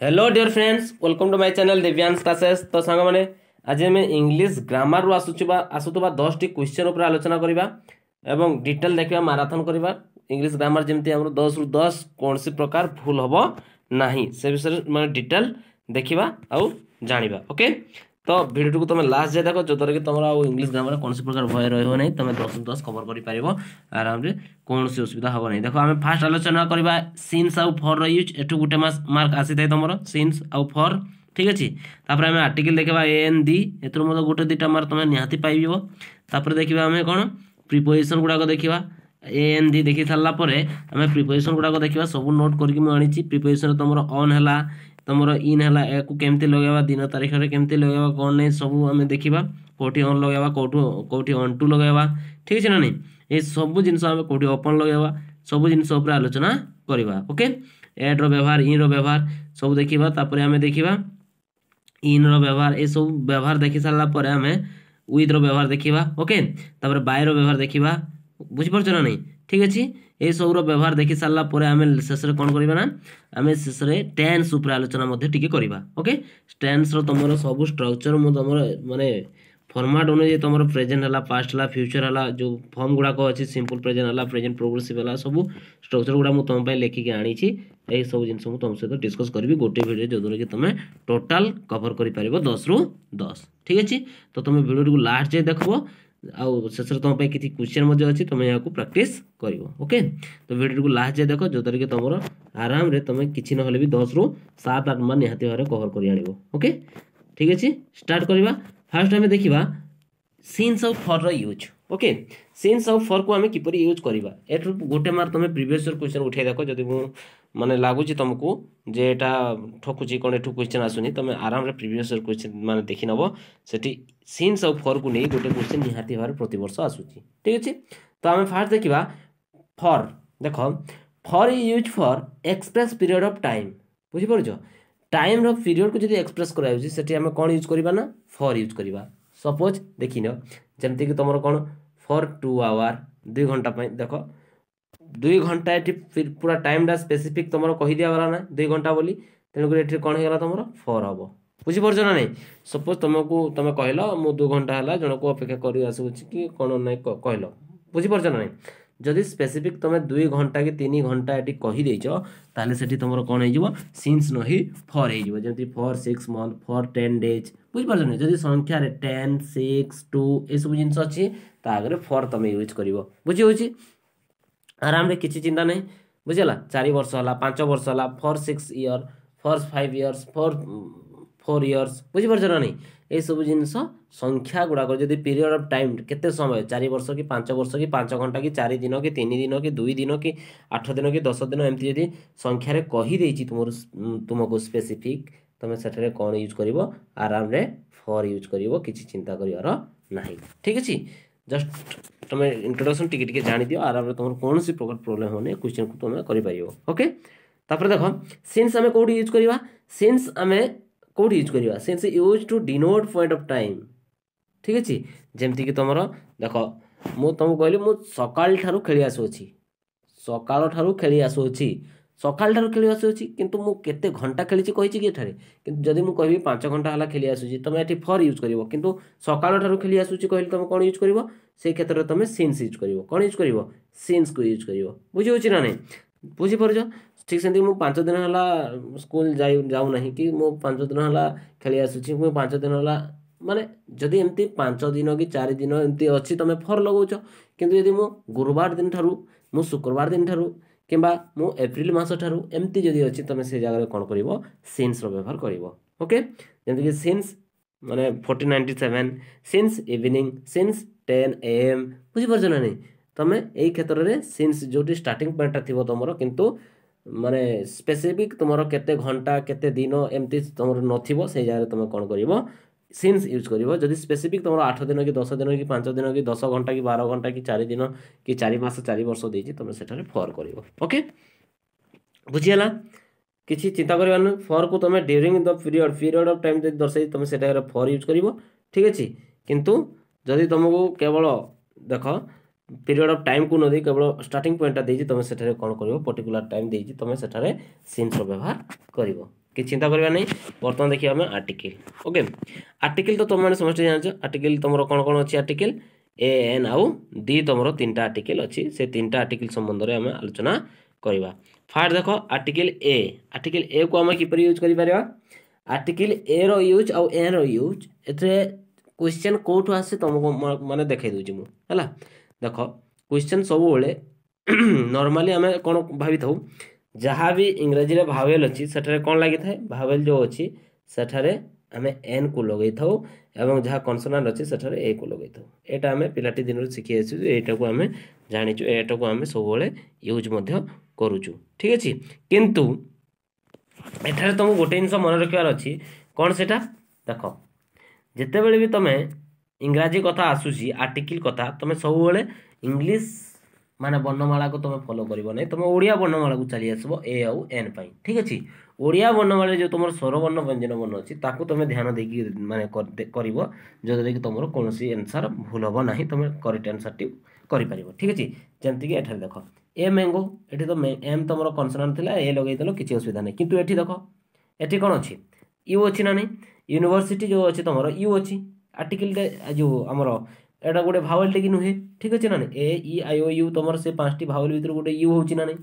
Hello dear friends, welcome to my channel Divyansh Classes. ତ ସାଙ୍ଗମାନେ, ଆଜି ଆମେ ଇଂଲିଶ ଗ୍ରାମାରରୁ ଆସୁଥିବା 10ଟି କ୍ୱେଶ୍ଚନ୍ ଉପରେ ଆଲୋଚନା କରିବା ଏବଂ ଡିଟେଲ୍ ଦେଖିବା, ମାରାଥନ୍ କରିବା। ଇଂଲିଶ ଗ୍ରାମାର ଯେମିତି ଆମର 10ରୁ 10 କୌଣସି ପ୍ରକାର ଭୁଲ ହେବ ନାହିଁ, ସେ ବିଷୟରେ ମାନେ ଡିଟେଲ୍ ଦେଖିବା ଆଉ ଜାଣିବା। ଓକେ, ତ ଭିଡ଼ିଓଟିକୁ ତୁମେ ଲାଷ୍ଟ ଯାଏ ଦେଖ, ଯଦ୍ୱାରା କି ତୁମର ଆଉ ଇଂଲିଶ ଗ୍ରାମାର କୌଣସି ପ୍ରକାର ଭୟ ରହିବ ନାହିଁ। ତୁମେ 10ରୁ 10 କଭର କରିପାରିବ ଆରାମରେ, କୌଣସି ଅସୁବିଧା ହେବ ନାହିଁ। ଦେଖ, ଆମେ ଫାଷ୍ଟ ଆଲୋଚନା କରିବା ସିନ୍ସ ଆଉ ଫର୍ର ୟୁଜ୍। ଏଠୁ ଗୋଟେ ମାର୍କ ଆସିଥାଏ ତୁମର ସିନ୍ସ ଆଉ ଫର୍। ଠିକ୍ ଅଛି। ତାପରେ ଆମେ ଆର୍ଟିକଲ ଦେଖିବା, ଏ, ଏନ୍, ଦି। ଏଥିରୁ ମଧ୍ୟ ଗୋଟେ ଦୁଇଟା ମାର୍କ ତୁମେ ନିହାତି ପାଇଯିବ। ତାପରେ ଦେଖିବା ଆମେ କ'ଣ? ପ୍ରିପୋଜିସନ୍ ଗୁଡ଼ାକ ଦେଖିବା। ଏ, ଏନ୍, ଦି ଦେଖି ସାରିଲା ପରେ ଆମେ ପ୍ରିପୋଜିସନ୍ ଗୁଡ଼ାକ ଦେଖିବା। ସବୁ ନୋଟ୍ କରିକି ମୁଁ ଆଣିଛି। ପ୍ରିପୋଜିସନ୍ ତୁମର ଅନ୍ ହେଲା, ତୁମର ଇନ୍ ହେଲା, ଏହାକୁ କେମିତି ଲଗାଇବା, ଦିନ ତାରିଖରେ କେମିତି ଲଗାଇବା, କ'ଣ ନାହିଁ, ସବୁ ଆମେ ଦେଖିବା। କେଉଁଠି ଅନ୍ ଲଗାଇବା, କେଉଁଠି ଅନ୍ ଟୁ ଲଗାଇବା, ଠିକ୍ ଅଛି ନା ନାହିଁ? ଏ ସବୁ ଜିନିଷ ଆମେ କେଉଁଠି ଅପନ୍ ଲଗାଇବା, ସବୁ ଜିନିଷ ଉପରେ ଆଲୋଚନା କରିବା। ଓକେ, ଏଟ୍ର ବ୍ୟବହାର, ଇନ୍ର ବ୍ୟବହାର ସବୁ ଦେଖିବା। ତାପରେ ଆମେ ଦେଖିବା ଇନ୍ର ବ୍ୟବହାର। ଏସବୁ ବ୍ୟବହାର ଦେଖି ସାରିଲା ପରେ ଆମେ ୱିଥ୍ର ବ୍ୟବହାର ଦେଖିବା। ଓକେ, ତାପରେ ବାଇର ବ୍ୟବହାର ଦେଖିବା। ବୁଝିପାରୁଛ ନା ନାହିଁ? ଠିକ୍ ଅଛି। ଏସବୁର ବ୍ୟବହାର ଦେଖି ସାରିଲା ପରେ ଆମେ ଶେଷରେ କ'ଣ କରିବା ନା, ଆମେ ଶେଷରେ ଟେନ୍ସ ଉପରେ ଆଲୋଚନା ମଧ୍ୟ ଟିକେ କରିବା। ଓକେ, ଟେନ୍ସର ତୁମର ସବୁ ଷ୍ଟ୍ରକ୍ଚର ମୁଁ ତୁମର ମାନେ ଫର୍ମାଟ୍ ଅନୁଯାୟୀ, ତୁମର ପ୍ରେଜେଣ୍ଟ ହେଲା, ପାଷ୍ଟ ହେଲା, ଫ୍ୟୁଚର ହେଲା, ଯେଉଁ ଫର୍ମ ଗୁଡ଼ାକ ଅଛି, ସିମ୍ପଲ୍ ପ୍ରେଜେଣ୍ଟ ହେଲା, ପ୍ରେଜେଣ୍ଟ ପ୍ରୋଗ୍ରେସିଭ୍ ହେଲା, ସବୁ ଷ୍ଟ୍ରକ୍ଚର ଗୁଡ଼ା ମୁଁ ତୁମ ପାଇଁ ଲେଖିକି ଆଣିଛି। ଏଇସବୁ ଜିନିଷ ମୁଁ ତୁମ ସହିତ ଡିସ୍କସ୍ କରିବି ଗୋଟେ ଭିଡ଼ିଓ, ଯେଉଁଦ୍ୱାରା କି ତୁମେ ଟୋଟାଲ୍ କଭର କରିପାରିବ 10ରୁ 10। ଠିକ୍ ଅଛି। ତ ତୁମେ ଭିଡ଼ିଓଟିକୁ ଲାଷ୍ଟ ଯାଏ ଦେଖିବ ଆଉ ଶେଷରେ ତୁମ ପାଇଁ କିଛି କ୍ୱେଶ୍ଚନ୍ ମଧ୍ୟ ଅଛି, ତୁମେ ଏହାକୁ ପ୍ରାକ୍ଟିସ୍ କରିବ। ଓକେ, ତ ଭିଡ଼ିଓଟିକୁ ଲାଷ୍ଟ ଯାଏ ଦେଖ, ଯେଉଁଦ୍ୱାରା କି ତୁମର ଆରାମରେ ତୁମେ କିଛି ନହେଲେ ବି 10ରୁ 7 8 ମାର୍କ ନିହାତି ଭାବରେ କଭର କରି ଆଣିବ। ଓକେ, ଠିକ୍ ଅଛି, ଷ୍ଟାର୍ଟ କରିବା। ଫାର୍ଷ୍ଟ ଆମେ ଦେଖିବା ସିନ୍ସ ଆଉ ଫର୍ର ୟୁଜ୍। ଓକେ, ସିନ୍ସ ଆଉ ଫର୍କୁ ଆମେ କିପରି ୟୁଜ୍ କରିବା। ଏଠୁ ଗୋଟେ ମାର୍କ ତୁମେ ପ୍ରିଭିୟସ୍ ଇୟର୍ କ୍ୱେଶ୍ଚନ୍ ଉଠାଇ ଦେଖ। ଯଦି ମୁଁ ମାନେ ଲାଗୁଛି ତୁମକୁ ଯେ ଏଇଟା ଠକୁଛି, କ'ଣ ଏଠୁ କ୍ୱେଶ୍ଚନ୍ ଆସୁନି, ତୁମେ ଆରାମରେ ପ୍ରିଭିୟସ୍ ଇୟର୍ କ୍ୱେଶ୍ଚନ୍ ମାନେ ଦେଖିନେବ। ସେଠି ସିନ୍ସ ଆଉ ଫର୍କୁ ନେଇ ଗୋଟେ କ୍ୱେଶ୍ଚନ୍ ନିହାତି ଭାବରେ ପ୍ରତିବର୍ଷ ଆସୁଛି। ଠିକ୍ ଅଛି। ତ ଆମେ ଫାର୍ଷ୍ଟ ଦେଖିବା ଫର୍। ଦେଖ, for use for express period of time. ବୁଝିପାରୁଛ? ଟାଇମ୍ର ପିରିୟଡ଼କୁ ଯଦି ଏକ୍ସପ୍ରେସ୍ କରାଯାଉଛି, ସେଠି ଆମେ କ'ଣ ୟୁଜ୍ କରିବା ନା, ଫର୍ ୟୁଜ୍ କରିବା। ସପୋଜ୍ ଦେଖିନିଅ, ଯେମିତିକି ତୁମର କ'ଣ, ଫର୍ 2 ଆୱାର, 2 ଘଣ୍ଟା ପାଇଁ। ଦେଖ, 2 ଘଣ୍ଟା ଏଠି ପୁରା ଟାଇମ୍ଟା ସ୍ପେସିଫିକ୍ ତୁମର କହିଦିଆଗଲା ନା 2 ଘଣ୍ଟା ବୋଲି, ତେଣୁକରି ଏଠି କ'ଣ ହେଇଗଲା ତୁମର? ଫର୍ ହେବ। ବୁଝିପାରୁଛ ନା ନାହିଁ? ସପୋଜ୍ ତୁମକୁ ତୁମେ କହିଲ, ମୁଁ 2 ଘଣ୍ଟା ହେଲା ଜଣକୁ ଅପେକ୍ଷା କରି ଆସୁଛି କି କ'ଣ ନାହିଁ କହିଲ। ବୁଝିପାରୁଛ ନା ନାହିଁ? ଯଦି ସ୍ପେସିଫିକ୍ ତୁମେ 2 ଘଣ୍ଟା କି 3 ଘଣ୍ଟା ଏଠି କହିଦେଇଛ, ତାହେଲେ ସେଠି ତୁମର କ'ଣ ହେଇଯିବ? ସିନ୍ସ ନ ହେଇ ଫର୍ ହେଇଯିବ। ଯେମିତି for 6 month, for 10 days. ବୁଝିପାରୁଛ ନା? ଯଦି ସଂଖ୍ୟାରେ 10, 6, 2 ଏସବୁ ଜିନିଷ ଅଛି, ତା ଆଗରେ ଫର୍ ତୁମେ ୟୁଜ୍ କରିବ। ବୁଝି ହେଉଛି? ଆରାମରେ, କିଛି ଚିନ୍ତା ନାହିଁ। ବୁଝିଲା? 4 ବର୍ଷ ହେଲା, 5 ବର୍ଷ ହେଲା, for 6 year, for 5 years, for 4 years. ବୁଝିପାରୁଛ ନା ନାହିଁ? ଏସବୁ ଜିନିଷ ସଂଖ୍ୟା ଗୁଡ଼ାକ ଯଦି ପିରିୟଡ଼ ଅଫ୍ ଟାଇମ୍, କେତେ ସମୟ, 4 ବର୍ଷ କି 5 ବର୍ଷ କି 5 ଘଣ୍ଟା କି 4 ଦିନ କି 3 ଦିନ କି 2 ଦିନ କି 8 ଦିନ କି 10 ଦିନ, ଏମିତି ଯଦି ସଂଖ୍ୟାରେ କହିଦେଇଛି ତୁମର ତୁମକୁ ସ୍ପେସିଫିକ୍, ତୁମେ ସେଠାରେ କ'ଣ ୟୁଜ୍ କରିବ? ଆରାମରେ ଫର୍ ୟୁଜ୍ କରିବ, କିଛି ଚିନ୍ତା କରିବାର ନାହିଁ। ଠିକ୍ ଅଛି। ଜଷ୍ଟ ତୁମେ ଇଣ୍ଟ୍ରୋଡକ୍ସନ୍ ଟିକେ ଟିକେ ଜାଣିଦିଅ, ଆରାମରେ ତୁମର କୌଣସି ପ୍ରକାର ପ୍ରୋବ୍ଲେମ୍ ହେବନି, କ୍ୱେଶ୍ଚନ୍କୁ ତୁମେ କରିପାରିବ। ଓକେ, ତାପରେ ଦେଖ, ସିନ୍ସ ଆମେ କେଉଁଠି ୟୁଜ୍ କରିବା? ସିନ୍ସ ଆମେ କେଉଁଠି ୟୁଜ୍ କରିବା? Since use to denote point of time. ଠିକ୍ ଅଛି। ଯେମିତିକି ତୁମର ଦେଖ, ମୁଁ ତୁମକୁ କହିଲି, ମୁଁ ସକାଳ ଠାରୁ ଖେଳି ଆସୁଅଛି, ସକାଳ ଠାରୁ ଖେଳି ଆସୁଅଛି, ସକାଳ ଠାରୁ ଖେଳି ଆସୁଅଛି, କିନ୍ତୁ ମୁଁ କେତେ ଘଣ୍ଟା ଖେଳିଛି କହିଛି କି ଏଠାରେ? କିନ୍ତୁ ଯଦି ମୁଁ କହିବି 5 ଘଣ୍ଟା ହେଲା ଖେଳି ଆସୁଛି, ତୁମେ ଏଠି ଫର୍ ୟୁଜ୍ କରିବ। କିନ୍ତୁ ସକାଳ ଠାରୁ ଖେଳି ଆସୁଛି କହିଲେ ତୁମେ କ'ଣ ୟୁଜ୍ କରିବ? ସେଇ କ୍ଷେତ୍ରରେ ତୁମେ ସିନ୍ସ ୟୁଜ୍ କରିବ। କ'ଣ ୟୁଜ୍ କରିବ? ସିନ୍ସକୁ ୟୁଜ୍ କରିବ। ବୁଝି ହେଉଛି ନା ନାହିଁ? ବୁଝିପାରୁଛ? ଠିକ୍ ସେମିତି ମୁଁ 5 ଦିନ ହେଲା ସ୍କୁଲ ଯାଉନାହିଁ କି ମୁଁ 5 ଦିନ ହେଲା ଖେଳି ଆସୁଛି, ମୁଁ 5 ଦିନ ହେଲା, ମାନେ ଯଦି ଏମିତି 5 ଦିନ କି 4 ଦିନ ଏମିତି ଅଛି, ତୁମେ ଫର୍ ଲଗାଉଛ। କିନ୍ତୁ ଯଦି ମୁଁ ଗୁରୁବାର ଦିନ ଠାରୁ, ମୁଁ ଶୁକ୍ରବାର ଦିନ ଠାରୁ କିମ୍ବା ମୁଁ ଏପ୍ରିଲ ମାସ ଠାରୁ, ଏମିତି ଯଦି ଅଛି, ତୁମେ ସେ ଜାଗାରେ କ'ଣ କରିବ? ସିନ୍ସର ବ୍ୟବହାର କରିବ। ଓକେ, ଯେମିତିକି ସିନ୍ସ ମାନେ 1497, since evening, since 10 a.m. ବୁଝିପାରୁଛ ନା ନାହିଁ? ତୁମେ ଏଇ କ୍ଷେତ୍ରରେ ସିନ୍ସ ଯେଉଁଠି ଷ୍ଟାର୍ଟିଂ ପଏଣ୍ଟଟା ଥିବ ତୁମର, କିନ୍ତୁ ମାନେ ସ୍ପେସିଫିକ୍ ତୁମର କେତେ ଘଣ୍ଟା, କେତେ ଦିନ ଏମିତି ତୁମର ନଥିବ, ସେଇ ଜାଗାରେ ତୁମେ କ'ଣ କରିବ? ସିନ୍ସ ୟୁଜ୍ କରିବ। ଯଦି ସ୍ପେସିଫିକ୍ ତୁମର 8 ଦିନ କି 10 ଦିନ କି 5 ଦିନ କି 10 ଘଣ୍ଟା କି 12 ଘଣ୍ଟା କି 4 ଦିନ କି 4 ମାସ, 4 ବର୍ଷ ଦେଇଛି, ତୁମେ ସେଠାରେ ଫର୍ କରିବ। ଓକେ, ବୁଝିହେଲା? କିଛି ଚିନ୍ତା କରିବାର ନାହିଁ। ଫର୍କୁ ତୁମେ during the period of time ଯଦି ଦର୍ଶାଇ, ତୁମେ ସେଟାରେ ଫର୍ ୟୁଜ୍ କରିବ। ଠିକ୍ ଅଛି। କିନ୍ତୁ ଯଦି ତୁମକୁ କେବଳ ଦେଖ, ପିରିୟଡ଼ ଅଫ୍ ଟାଇମ୍କୁ ନ ଦେଇ କେବଳ ଷ୍ଟାର୍ଟିଂ ପଏଣ୍ଟଟା ଦେଇଛି, ତୁମେ ସେଠାରେ କ'ଣ କରିବ? ପର୍ଟିକୁଲାର ଟାଇମ୍ ଦେଇଛି, ତୁମେ ସେଠାରେ ସିନ୍ସର ବ୍ୟବହାର କରିବ। କିଛି ଚିନ୍ତା କରିବା ନାହିଁ। ବର୍ତ୍ତମାନ ଦେଖିବା ଆମେ ଆର୍ଟିକିଲ୍। ଓକେ, ଆର୍ଟିକିଲ୍ ତ ତୁମେମାନେ ସମସ୍ତେ ଜାଣିଛ। ଆର୍ଟିକିଲ୍ ତୁମର କ'ଣ କ'ଣ ଅଛି? ଆର୍ଟିକିଲ୍ ଏ, ଏନ୍ ଆଉ ଦି, ତୁମର ତିନିଟା ଆର୍ଟିକିଲ୍ ଅଛି। ସେ ତିନିଟା ଆର୍ଟିକିଲ୍ ସମ୍ବନ୍ଧରେ ଆମେ ଆଲୋଚନା କରିବା। ଫାର୍ଷ୍ଟ ଦେଖ ଆର୍ଟିକିଲ୍ ଏ। ଆର୍ଟିକିଲ୍ ଏ କୁ ଆମେ କିପରି ୟୁଜ୍ କରିପାରିବା? ଆର୍ଟିକିଲ୍ ଏ ର ୟୁଜ୍ ଆଉ ଏନ୍ ର ୟୁଜ୍, ଏଥିରେ କ୍ୱେଶ୍ଚନ୍ କେଉଁଠୁ ଆସେ ତୁମକୁ ମାନେ ଦେଖାଇ ଦେଉଛି ମୁଁ। ହେଲା, ଦେଖ, କ୍ୱେଶ୍ଚନ୍ ସବୁବେଳେ ନର୍ମାଲି ଆମେ କ'ଣ ଭାବିଥାଉ? ଯାହା ବି ଇଂରାଜୀରେ ଭାୱେଲ୍ ଅଛି, ସେଠାରେ କ'ଣ ଲାଗିଥାଏ? ଭାୱେଲ୍ ଯେଉଁ ଅଛି, ସେଠାରେ ଆମେ ଏନ୍ କୁ ଲଗେଇଥାଉ ଏବଂ ଯାହା କନସୋନାଣ୍ଟ ଅଛି, ସେଠାରେ ଏ କୁ ଲଗେଇଥାଉ। ଏଇଟା ଆମେ ପିଲାଟି ଦିନରୁ ଶିଖି ଆସିଛୁ, ଏଇଟାକୁ ଆମେ ଜାଣିଛୁ, ଏଇଟାକୁ ଆମେ ସବୁବେଳେ ୟୁଜ୍ ମଧ୍ୟ କରୁଛୁ। ଠିକ୍ ଅଛି? କିନ୍ତୁ ଏଠାରେ ତୁମକୁ ଗୋଟେ ଜିନିଷ ମନେ ରଖିବାର ଅଛି। କ'ଣ ସେଇଟା? ଦେଖ, ଯେତେବେଳେ ବି ତୁମେ ଇଂରାଜୀ କଥା ଆସୁଛି, ଆର୍ଟିକିଲ୍ କଥା, ତୁମେ ସବୁବେଳେ ଇଂଲିଶ ମାନେ ବର୍ଣ୍ଣମାଳାକୁ ତୁମେ ଫଲୋ କରିବ ନାହିଁ। ତୁମେ ଓଡ଼ିଆ ବର୍ଣ୍ଣମାଳାକୁ ଚାଲି ଆସିବ ଏ ଆଉ ଏନ୍ ପାଇଁ। ଠିକ୍ ଅଛି? ଓଡ଼ିଆ ବର୍ଣ୍ଣମାଳାରେ ଯେଉଁ ତୁମର ସ୍ୱରବର୍ଣ୍ଣ, ବ୍ୟଞ୍ଜନ ବର୍ଣ୍ଣ ଅଛି, ତାକୁ ତୁମେ ଧ୍ୟାନ ଦେଇକି ମାନେ କରିବ, ଯେଉଁଥିରେ କି ତୁମର କୌଣସି ଆନ୍ସର୍ ଭୁଲ ହେବ ନାହିଁ, ତୁମେ କରେକ୍ଟ ଆନ୍ସର୍ଟି କରିପାରିବ। ଠିକ୍ ଅଛି? ଯେମିତିକି ଏଠାରେ ଦେଖ, ଏ ମ୍ୟାଙ୍ଗୋ, ଏଠି ତ ଏମ୍ ତୁମର କନସନାଣ୍ଟ ଥିଲା, ଏ ଲଗେଇଦେଲ, କିଛି ଅସୁବିଧା ନାହିଁ। କିନ୍ତୁ ଏଠି ଦେଖ, ଏଠି କ'ଣ ଅଛି? You ଅଛି ନା ନାହିଁ? ୟୁନିଭର୍ସିଟି ଯେଉଁ ଅଛି, ତୁମର you ଅଛି। ଆର୍ଟିକିଲଟା ଯେଉଁ ଆମର ଏଇଟା ଗୋଟେ ଭାୱେଲ୍ଟେ କି ନୁହେଁ? ଠିକ୍ ଅଛି ନା ନାହିଁ? ଏ, ଇ, I, O, you, ତୁମର ସେ ପାଞ୍ଚଟି ଭାୱେଲ୍ ଭିତରୁ ଗୋଟେ you ହେଉଛି ନା ନାହିଁ?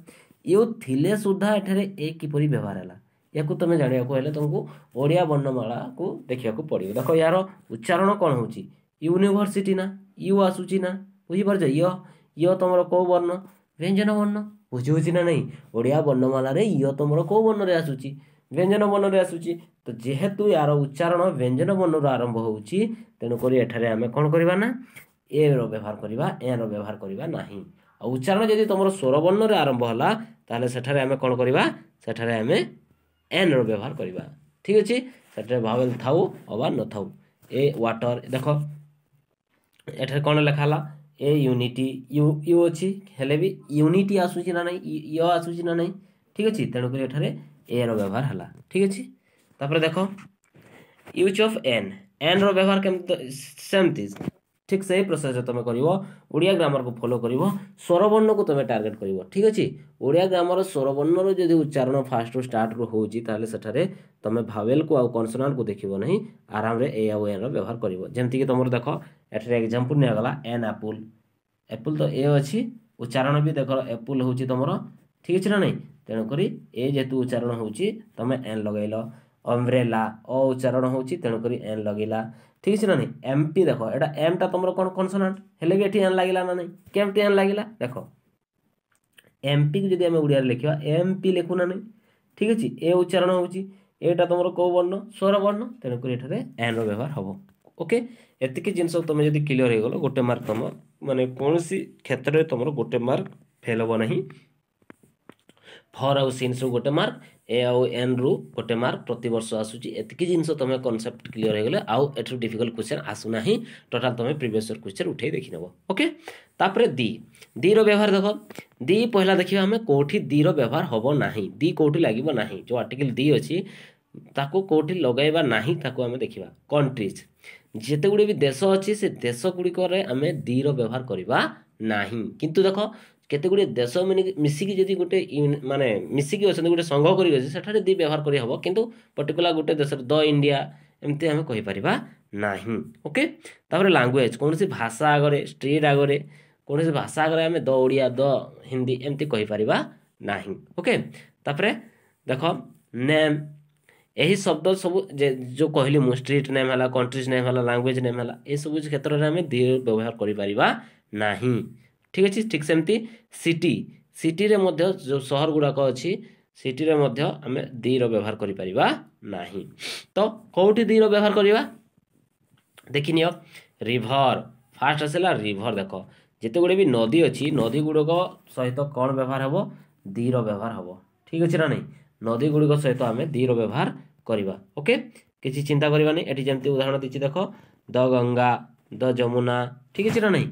You ଥିଲେ ସୁଦ୍ଧା ଏଠାରେ ଏ କିପରି ବ୍ୟବହାର ହେଲା? ୟାକୁ ତୁମେ ଜାଣିବାକୁ ହେଲେ ତୁମକୁ ଓଡ଼ିଆ ବର୍ଣ୍ଣମାଳାକୁ ଦେଖିବାକୁ ପଡ଼ିବ। ଦେଖ, ୟାର ଉଚ୍ଚାରଣ କ'ଣ ହେଉଛି? ୟୁନିଭର୍ସିଟି ନା, you ଆସୁଛି ନା? ବୁଝିପାରୁଛ? ୟ ତୁମର କେଉଁ ବର୍ଣ୍ଣ? ବ୍ୟଞ୍ଜନ ବର୍ଣ୍ଣ। ବୁଝି ହେଉଛି ନା ନାହିଁ? ଓଡ଼ିଆ ବର୍ଣ୍ଣମାଳାରେ ୟ ତୁମର କେଉଁ ବର୍ଣ୍ଣରେ ଆସୁଛି? ବ୍ୟଞ୍ଜନ ବର୍ଣ୍ଣରେ ଆସୁଛି। ତ ଯେହେତୁ ୟାର ଉଚ୍ଚାରଣ ବ୍ୟଞ୍ଜନ ବର୍ଣ୍ଣରୁ ଆରମ୍ଭ ହେଉଛି, ତେଣୁକରି ଏଠାରେ ଆମେ କ'ଣ କରିବା ନା ଏ ର ବ୍ୟବହାର କରିବା, ଏନ୍ ର ବ୍ୟବହାର କରିବା ନାହିଁ। ଆଉ ଉଚ୍ଚାରଣ ଯଦି ତୁମର ସ୍ୱରବର୍ଣ୍ଣରେ ଆରମ୍ଭ ହେଲା, ତାହେଲେ ସେଠାରେ ଆମେ କ'ଣ କରିବା? ସେଠାରେ ଆମେ ଏନ୍ ର ବ୍ୟବହାର କରିବା। ଠିକ୍ ଅଛି? ସେଠାରେ ଭାୱେଲ୍ ଥାଉ ଅବା ନଥାଉ। ଏ ୱାଟର, ଦେଖ, ଏଠାରେ କ'ଣ ଲେଖା ହେଲା? ଏ ୟୁନିଟି, you, you ଅଛି, ହେଲେ ବି ୟୁନିଟି ଆସୁଛି ନା ନାହିଁ? ୟ ଆସୁଛି ନା ନାହିଁ? ଠିକ୍ ଅଛି? ତେଣୁକରି ଏଠାରେ ଏ ର ବ୍ୟବହାର ହେଲା। ଠିକ୍ ଅଛି? ତାପରେ ଦେଖ ୟୁଜ୍ ଅଫ୍ ଏନ୍। ଏନ୍ ର ବ୍ୟବହାର କେମିତି? ସେମିତି ଠିକ୍ ସେଇ ପ୍ରୋସେସ୍ରେ ତୁମେ କରିବ। ଓଡ଼ିଆ ଗ୍ରାମରକୁ ଫଲୋ କରିବ, ସ୍ୱରବର୍ଣ୍ଣକୁ ତୁମେ ଟାର୍ଗେଟ୍ କରିବ। ଠିକ୍ ଅଛି? ଓଡ଼ିଆ ଗ୍ରାମର ସ୍ୱରବର୍ଣ୍ଣର ଯଦି ଉଚ୍ଚାରଣ ଫାଷ୍ଟରୁ ଷ୍ଟାର୍ଟରୁ ହେଉଛି, ତାହେଲେ ସେଠାରେ ତୁମେ ଭାୱେଲ୍କୁ ଆଉ କନସନାଣ୍ଟକୁ ଦେଖିବ ନାହିଁ, ଆରାମରେ ଏ ଆଉ ଏନ୍ର ବ୍ୟବହାର କରିବ। ଯେମିତିକି ତୁମର ଦେଖ, ଏଠାରେ ଏକ୍ଜାମ୍ପଲ୍ ନିଆଗଲା ଏନ୍ ଆପୁଲ୍। ଏପୁଲ୍ ତ ଏ ଅଛି, ଉଚ୍ଚାରଣ ବି ଦେଖ ଏପୁଲ୍ ହେଉଛି ତୁମର। ଠିକ୍ ଅଛି ନା ନାହିଁ? ତେଣୁକରି ଏ ଯେହେତୁ ଉଚ୍ଚାରଣ ହେଉଛି, ତୁମେ ଏନ୍ ଲଗାଇଲ। ଅମ୍ବ୍ରେଲା, ଅ ଉଚ୍ଚାରଣ ହେଉଛି, ତେଣୁକରି ଏନ୍ ଲଗେଇଲା। ଠିକ୍ ଅଛି ନା ନାହିଁ? ଏମ୍ ପି, ଦେଖ, ଏଇଟା ଏମ୍ଟା ତୁମର କ'ଣ? କନସନାଣ୍ଟ। ହେଲେ ବି ଏଠି ଏନ୍ ଲାଗିଲା ନା ନାହିଁ? କେମିତି ଏନ୍ ଲାଗିଲା? ଦେଖ, ଏମ୍ ପିକୁ ଯଦି ଆମେ ଓଡ଼ିଆରେ ଲେଖିବା, ଏମ୍ ପି ଲେଖୁ ନା ନାହିଁ? ଠିକ୍ ଅଛି? ଏ ଉଚ୍ଚାରଣ ହେଉଛି, ଏଇଟା ତୁମର କେଉଁ ବର୍ଣ୍ଣ? ସ୍ୱର ବର୍ଣ୍ଣ। ତେଣୁକରି ଏଠାରେ ଏନ୍ର ବ୍ୟବହାର ହେବ। ଓକେ, ଏତିକି ଜିନିଷ ତୁମେ ଯଦି କ୍ଲିଅର୍ ହେଇଗଲ, ଗୋଟେ ମାର୍କ ତୁମ ମାନେ କୌଣସି କ୍ଷେତ୍ରରେ ତୁମର ଗୋଟେ ମାର୍କ ଫେଲ୍ ହେବ ନାହିଁ। ଫର୍ ଆଉ ସିନ୍ସରୁ ଗୋଟେ ମାର୍କ, ଏ ଆଉ ଏନ୍ରୁ ଗୋଟେ ମାର୍କ ପ୍ରତିବର୍ଷ ଆସୁଛି। ଏତିକି ଜିନିଷ ତୁମେ କନସେପ୍ଟ କ୍ଲିଅର୍ ହେଇଗଲେ ଆଉ ଏଠୁ ଡିଫିକଲ୍ଟ କ୍ୱେଶ୍ଚନ୍ ଆସୁନାହିଁ। ଟୋଟାଲ୍ ତୁମେ ପ୍ରିଭିୟସ୍ ଇୟର୍ କ୍ୱେଶ୍ଚନ୍ ଉଠେଇ ଦେଖିନେବ। ଓକେ, ତାପରେ ଦି। ଦିର ବ୍ୟବହାର ଦେଖ। ଦି ପହିଲା ଦେଖିବା ଆମେ କେଉଁଠି ଦିର ବ୍ୟବହାର ହେବ ନାହିଁ, ଦି କେଉଁଠି ଲାଗିବ ନାହିଁ। ଯେଉଁ ଆର୍ଟିକଲ୍ ଦି ଅଛି, ତାକୁ କେଉଁଠି ଲଗାଇବା ନାହିଁ, ତାକୁ ଆମେ ଦେଖିବା। କଣ୍ଟ୍ରିଜ୍, ଯେତେ ଗୁଡ଼ିଏ ବି ଦେଶ ଅଛି, ସେ ଦେଶ ଗୁଡ଼ିକରେ ଆମେ ଦିର ବ୍ୟବହାର କରିବା ନାହିଁ। କିନ୍ତୁ ଦେଖ, କେତେ ଗୁଡ଼ିଏ ଦେଶ ମିଶିକି ଯଦି ଗୋଟେ ମାନେ ମିଶିକି ଅଛନ୍ତି, ଗୋଟେ ସଂଘ କରିକି ଅଛି, ସେଠାରେ ଦି ବ୍ୟବହାର କରିହେବ। କିନ୍ତୁ ପର୍ଟିକୁଲାର ଗୋଟେ ଦେଶରେ ଦ ଇଣ୍ଡିଆ, ଏମିତି ଆମେ କହିପାରିବା ନାହିଁ। ଓକେ, ତାପରେ ଲାଙ୍ଗୁଏଜ୍, କୌଣସି ଭାଷା ଆଗରେ, ଷ୍ଟ୍ରିଟ୍ ଆଗରେ, କୌଣସି ଭାଷା ଆଗରେ ଆମେ ଦ ଓଡ଼ିଆ, ଦ ହିନ୍ଦୀ ଏମିତି କହିପାରିବା ନାହିଁ। ଓକେ, ତାପରେ ଦେଖ ନେମ୍। ଏହି ଶବ୍ଦ ସବୁ ଯେଉଁ କହିଲି ମୁଁ, ଷ୍ଟ୍ରିଟ୍ ନେମ୍ ହେଲା, କଣ୍ଟ୍ରିଜ୍ ନେମ୍ ହେଲା, ଲାଙ୍ଗୁଏଜ୍ ନେମ୍ ହେଲା, ଏସବୁ କ୍ଷେତ୍ରରେ ଆମେ ଦି ବ୍ୟବହାର କରିପାରିବା ନାହିଁ। ଠିକ୍ ଅଛି? ଠିକ୍ ସେମିତି ସିଟି। ସିଟିରେ ମଧ୍ୟ ଯେଉଁ ସହର ଗୁଡ଼ାକ ଅଛି, ସିଟିରେ ମଧ୍ୟ ଆମେ ଦିର ବ୍ୟବହାର କରିପାରିବା ନାହିଁ। ତ କେଉଁଠି ଦିର ବ୍ୟବହାର କରିବା ଦେଖିନିଅ। ରିଭର, ଫାଷ୍ଟ ଆସିଲା ରିଭର। ଦେଖ, ଯେତେ ଗୁଡ଼ିଏ ବି ନଦୀ ଅଛି, ନଦୀ ଗୁଡ଼ିକ ସହିତ କ'ଣ ବ୍ୟବହାର ହେବ? ଦିର ବ୍ୟବହାର ହେବ। ଠିକ୍ ଅଛି ନା ନାହିଁ? ନଦୀ ଗୁଡ଼ିକ ସହିତ ଆମେ ଦିର ବ୍ୟବହାର କରିବା। ଓକେ, କିଛି ଚିନ୍ତା କରିବାନି। ଏଠି ଯେମିତି ଉଦାହରଣ ଦେଇଛି ଦେଖ, ଦ ଗଙ୍ଗା, ଦ ଯମୁନା। ଠିକ୍ ଅଛି ନା ନାହିଁ?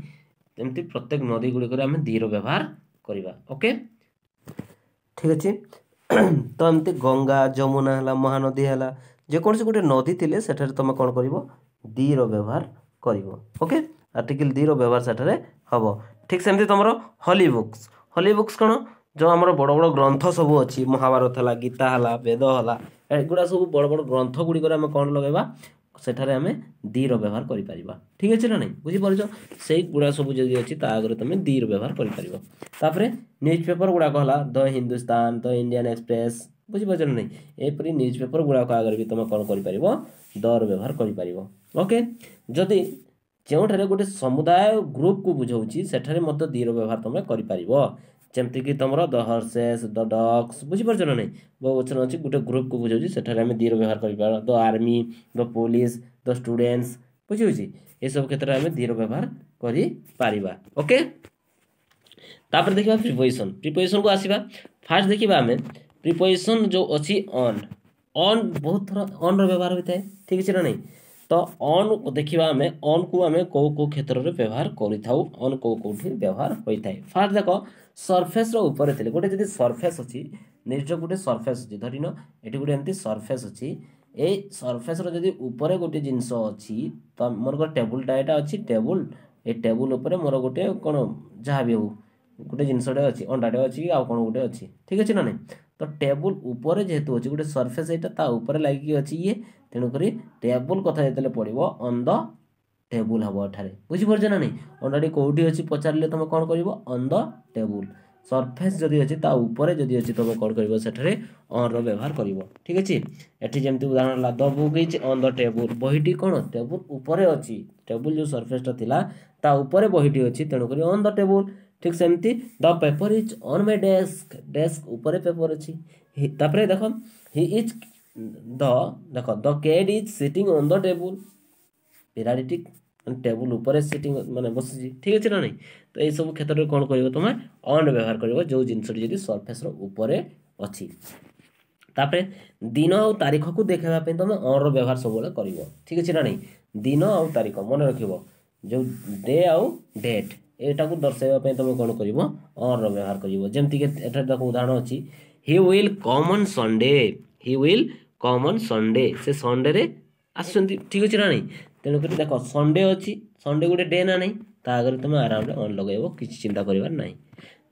ଏମିତି ପ୍ରତ୍ୟେକ ନଦୀ ଗୁଡ଼ିକରେ ଆମେ ଦିର ବ୍ୟବହାର କରିବା। ଓକେ, ଠିକ୍ ଅଛି। ତ ଏମିତି ଗଙ୍ଗା, ଯମୁନା ହେଲା, ମହାନଦୀ ହେଲା, ଯେକୌଣସି ଗୋଟେ ନଦୀ ଥିଲେ ସେଠାରେ ତୁମେ କ'ଣ କରିବ? ଦିର ବ୍ୟବହାର କରିବ। ଓକେ, ଆର୍ଟିକିଲ୍ ଦିର ବ୍ୟବହାର ସେଠାରେ ହେବ। ଠିକ୍ ସେମିତି ତୁମର ହଲି ବୁକ୍ସ। ହଲି ବୁକ୍ସ କ'ଣ? ଯେଉଁ ଆମର ବଡ଼ ବଡ଼ ଗ୍ରନ୍ଥ ସବୁ ଅଛି, ମହାଭାରତ ହେଲା, ଗୀତା ହେଲା, ବେଦ ହେଲା, ଏଗୁଡ଼ା ସବୁ ବଡ଼ ବଡ଼ ଗ୍ରନ୍ଥ ଗୁଡ଼ିକରେ ଆମେ କ'ଣ ଲଗାଇବା? ସେଠାରେ ଆମେ ଦିର ବ୍ୟବହାର କରିପାରିବା। ଠିକ୍ ଅଛି ନା ନାହିଁ? ବୁଝିପାରୁଛ? ସେଇଗୁଡ଼ା ସବୁ ଯଦି ଅଛି, ତା ଆଗରେ ତୁମେ ଦିର ବ୍ୟବହାର କରିପାରିବ। ତାପରେ ନ୍ୟୁଜ୍ ପେପର ଗୁଡ଼ାକ ହେଲା, ଦ ହିନ୍ଦୁସ୍ତାନ, ଦ ଇଣ୍ଡିଆନ୍ ଏକ୍ସପ୍ରେସ୍, ବୁଝିପାରୁଛ ନା ନାହିଁ? ଏପରି ନ୍ୟୁଜ୍ ପେପର ଗୁଡ଼ାକ ଆଗରେ ବି ତୁମେ କ'ଣ କରିପାରିବ? ଦର ବ୍ୟବହାର କରିପାରିବ। ଓକେ, ଯଦି ଯେଉଁଠାରେ ଗୋଟେ ସମୁଦାୟ ଗ୍ରୁପକୁ ବୁଝାଉଛି, ସେଠାରେ ମଧ୍ୟ ଦିର ବ୍ୟବହାର ତୁମେ କରିପାରିବ। ଯେମିତିକି ତୁମର ଦ ହର୍ସେସ୍, ଦ ଡଗ୍ସ, ବୁଝିପାରୁଛ ନା ନାହିଁ? ବହୁ ବଚନ ଅଛି, ଗୋଟେ ଗ୍ରୁପକୁ ବୁଝାଉଛି, ସେଠାରେ ଆମେ ଦିର ବ୍ୟବହାର କରିପାରିବା। The army, the police, the students, ବୁଝିହେଉଛି? ଏସବୁ କ୍ଷେତ୍ରରେ ଆମେ ଦିର ବ୍ୟବହାର କରିପାରିବା। ଓକେ, ତାପରେ ଦେଖିବା ପ୍ରିପୋଜିସନ୍। ପ୍ରିପୋଜିସନ୍କୁ ଆସିବା। ଫାର୍ଷ୍ଟ ଦେଖିବା ଆମେ ପ୍ରିପୋଜିସନ୍ ଯେଉଁ ଅଛି ଅନ୍। ଅନ୍ ବହୁତ ଥର ଅନ୍ର ବ୍ୟବହାର ହୋଇଥାଏ, ଠିକ୍ ଅଛି ନା ନାହିଁ? ତ ଅନ୍ ଦେଖିବା ଆମେ, ଅନ୍କୁ ଆମେ କେଉଁ କେଉଁ କ୍ଷେତ୍ରରେ ବ୍ୟବହାର କରିଥାଉ, ଅନ୍ କେଉଁ କେଉଁଠି ବ୍ୟବହାର ହୋଇଥାଏ। ଫାର୍ଷ୍ଟ ଦେଖ, ସର୍ଫେସ୍ର ଉପରେ ଥିଲେ, ଗୋଟେ ଯଦି ସର୍ଫେସ୍ ଅଛି, ନିଜ ଗୋଟେ ସର୍ଫେସ୍ ଅଛି, ଧରିନିଅ ଏଠି ଗୋଟେ ଏମିତି ସର୍ଫେସ୍ ଅଛି, ଏଇ ସର୍ଫେସ୍ର ଯଦି ଉପରେ ଗୋଟେ ଜିନିଷ ଅଛି, ତ ମନେକର ଟେବୁଲଟା ଏଇଟା ଅଛି ଟେବୁଲ, ଏ ଟେବୁଲ ଉପରେ ମୋର ଗୋଟେ କ'ଣ ଯାହା ବି ହଉ ଗୋଟେ ଜିନିଷଟେ ଅଛି, ଅଣ୍ଡାଟେ ଅଛି କି ଆଉ କ'ଣ ଗୋଟେ ଅଛି, ଠିକ୍ ଅଛି ନା ନାହିଁ? ତ ଟେବୁଲ ଉପରେ ଯେହେତୁ ଅଛି ଗୋଟେ ସର୍ଫେସ୍, ଏଇଟା ତା ଉପରେ ଲାଗିକି ଅଛି ଇଏ, ତେଣୁକରି ଟେବୁଲ କଥା ଯେତେବେଳେ ପଡ଼ିବ, ଅନ୍ the table ହେବ ଏଠାରେ। ବୁଝିପାରୁଛ ନା ନାହିଁ? ଅଣ୍ଡାଟି କେଉଁଠି ଅଛି ପଚାରିଲେ ତୁମେ କ'ଣ କରିବ? On the table. Surface ଯଦି ଅଛି, ତା ଉପରେ ଯଦି ଅଛି, ତୁମେ କ'ଣ କରିବ? ସେଠାରେ ଅନ୍ର ବ୍ୟବହାର କରିବ। ଠିକ୍ ଅଛି? ଏଠି ଯେମିତି ଉଦାହରଣ ହେଲା, the book is on the table. ବହିଟି କ'ଣ ଟେବୁଲ ଉପରେ ଅଛି। ଟେବୁଲ ଯେଉଁ ସର୍ଫେସ୍ଟା ଥିଲା, ତା ଉପରେ ବହିଟି ଅଛି, ତେଣୁକରି ଅନ୍ the table. ଠିକ୍ ସେମିତି the paper is on my desk. Desk ଉପରେ ପେପର ଅଛି। ତାପରେ ଦେଖ, he is the, ଦେଖ, the cat is sitting on the table. ବିରାଡ଼ିଟି table ଉପରେ ସିଟିଂ ମାନେ ବସିଛି। ଠିକ୍ ଅଛି ନା ନାହିଁ? ତ ଏଇସବୁ କ୍ଷେତ୍ରରେ କ'ଣ କରିବ ତୁମେ? ଅନ୍ ବ୍ୟବହାର କରିବ, ଯେଉଁ ଜିନିଷଟି ଯଦି ସର୍ଫେସ୍ର ଉପରେ ଅଛି। ତାପରେ ଦିନ ଆଉ ତାରିଖକୁ ଦେଖାଇବା ପାଇଁ ତୁମେ ଅନ୍ର ବ୍ୟବହାର ସବୁବେଳେ କରିବ। ଠିକ୍ ଅଛି ନା ନାହିଁ? ଦିନ ଆଉ ତାରିଖ ମନେ ରଖିବ, ଯେଉଁ ଡେ ଆଉ ଡେଟ୍, ଏଇଟାକୁ ଦର୍ଶାଇବା ପାଇଁ ତୁମେ କ'ଣ କରିବ? ଅନ୍ର ବ୍ୟବହାର କରିବ। ଯେମିତିକି ଏଠାରେ ଦେଖ ଉଦାହରଣ ଅଛି, he will come on Sunday. He will come on Sunday. ସେ ସଣ୍ଡେରେ ଆସୁଛନ୍ତି। ଠିକ୍ ଅଛି ନା ନାହିଁ? ତେଣୁକରି ଦେଖ, ସଣ୍ଡେ ଅଛି, ସଣ୍ଡେ ଗୋଟେ ଡେ ନା ନାହିଁ? ତା ଆଗରେ ତୁମେ ଆରାମରେ ଅନ୍ ଲଗାଇବ, କିଛି ଚିନ୍ତା କରିବାର ନାହିଁ।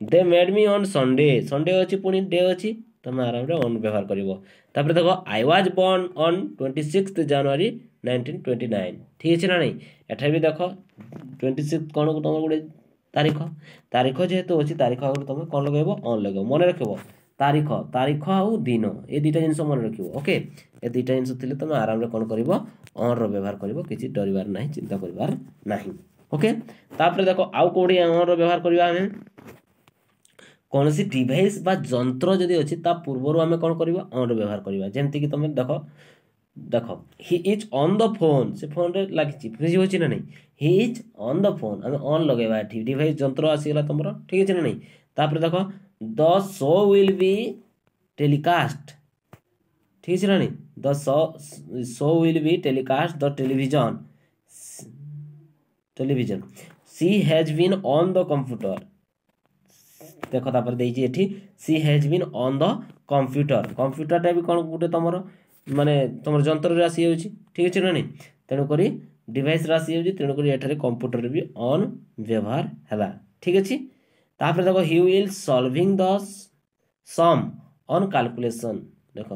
They met me on Sunday. Sunday ଅଛି, ପୁଣି ଡେ ଅଛି, ତୁମେ ଆରାମରେ ଅନ୍ ବ୍ୟବହାର କରିବ। ତାପରେ ଦେଖ, I was born on 26 January 1929. ଠିକ୍ ଅଛି ନା ନାହିଁ? ଏଠାରେ ବି ଦେଖ, 26 କ'ଣ ତୁମର ଗୋଟେ ତାରିଖ। ତାରିଖ ଯେହେତୁ ଅଛି, ତାରିଖ ଆଗରୁ ତୁମେ କ'ଣ ଲଗାଇବ? ଅନ୍ ଲଗାଇବ। ମନେ ରଖିବ, ତାରିଖ ଆଉ ଦିନ, ଏ ଦୁଇଟା ଜିନିଷ ମନେ ରଖିବ। ଓକେ, ଏ ଦୁଇଟା ଜିନିଷ ଥିଲେ ତୁମେ ଆରାମରେ କ'ଣ କରିବ? ଅନ୍ର ବ୍ୟବହାର କରିବ। କିଛି ଡରିବାର ନାହିଁ, ଚିନ୍ତା କରିବାର ନାହିଁ। ଓକେ, ତାପରେ ଦେଖ ଆଉ କେଉଁଠି ଅନ୍ର ବ୍ୟବହାର କରିବା ଆମେ। କୌଣସି ଡିଭାଇସ୍ ବା ଯନ୍ତ୍ର ଯଦି ଅଛି, ତା ପୂର୍ବରୁ ଆମେ କ'ଣ କରିବା? ଅନ୍ର ବ୍ୟବହାର କରିବା। ଯେମିତିକି ତୁମେ ଦେଖ, he is on the phone. ସେ ଫୋନ୍ରେ ଲାଗିଛି। ବୁଝି ହେଉଛି ନା ନାହିଁ? He is on the phone. ଆମେ ଅନ୍ ଲଗାଇବା ଏଠି, ଡିଭାଇସ୍ ଯନ୍ତ୍ର ଆସିଗଲା ତୁମର। ଠିକ୍ ଅଛି ନା ନାହିଁ? ତାପରେ ଦେଖ, the show will be telecast. ଠିକ୍ ଅଛି ନା ନାହିଁ? The show will be telecast the television. She has been on the computer. ଦେଖ, ତାପରେ ଦେଇଛି ଏଠି, she has been on the computer. କମ୍ପ୍ୟୁଟରଟା ବି କ'ଣ ଗୋଟେ ତୁମର ମାନେ ତୁମର ଯନ୍ତ୍ରରେ ଆସିଯାଉଛି। ଠିକ୍ ଅଛି ନା ନାହିଁ? ତେଣୁକରି ଡିଭାଇସ୍ରେ ଆସିଯାଉଛି, ତେଣୁକରି ଏଠାରେ କମ୍ପ୍ୟୁଟରରେ ବି ଅନ୍ ବ୍ୟବହାର ହେଲା। ଠିକ୍ ଅଛି? ତାପରେ ଦେଖ, he will solving the sum on calculation. ଦେଖ,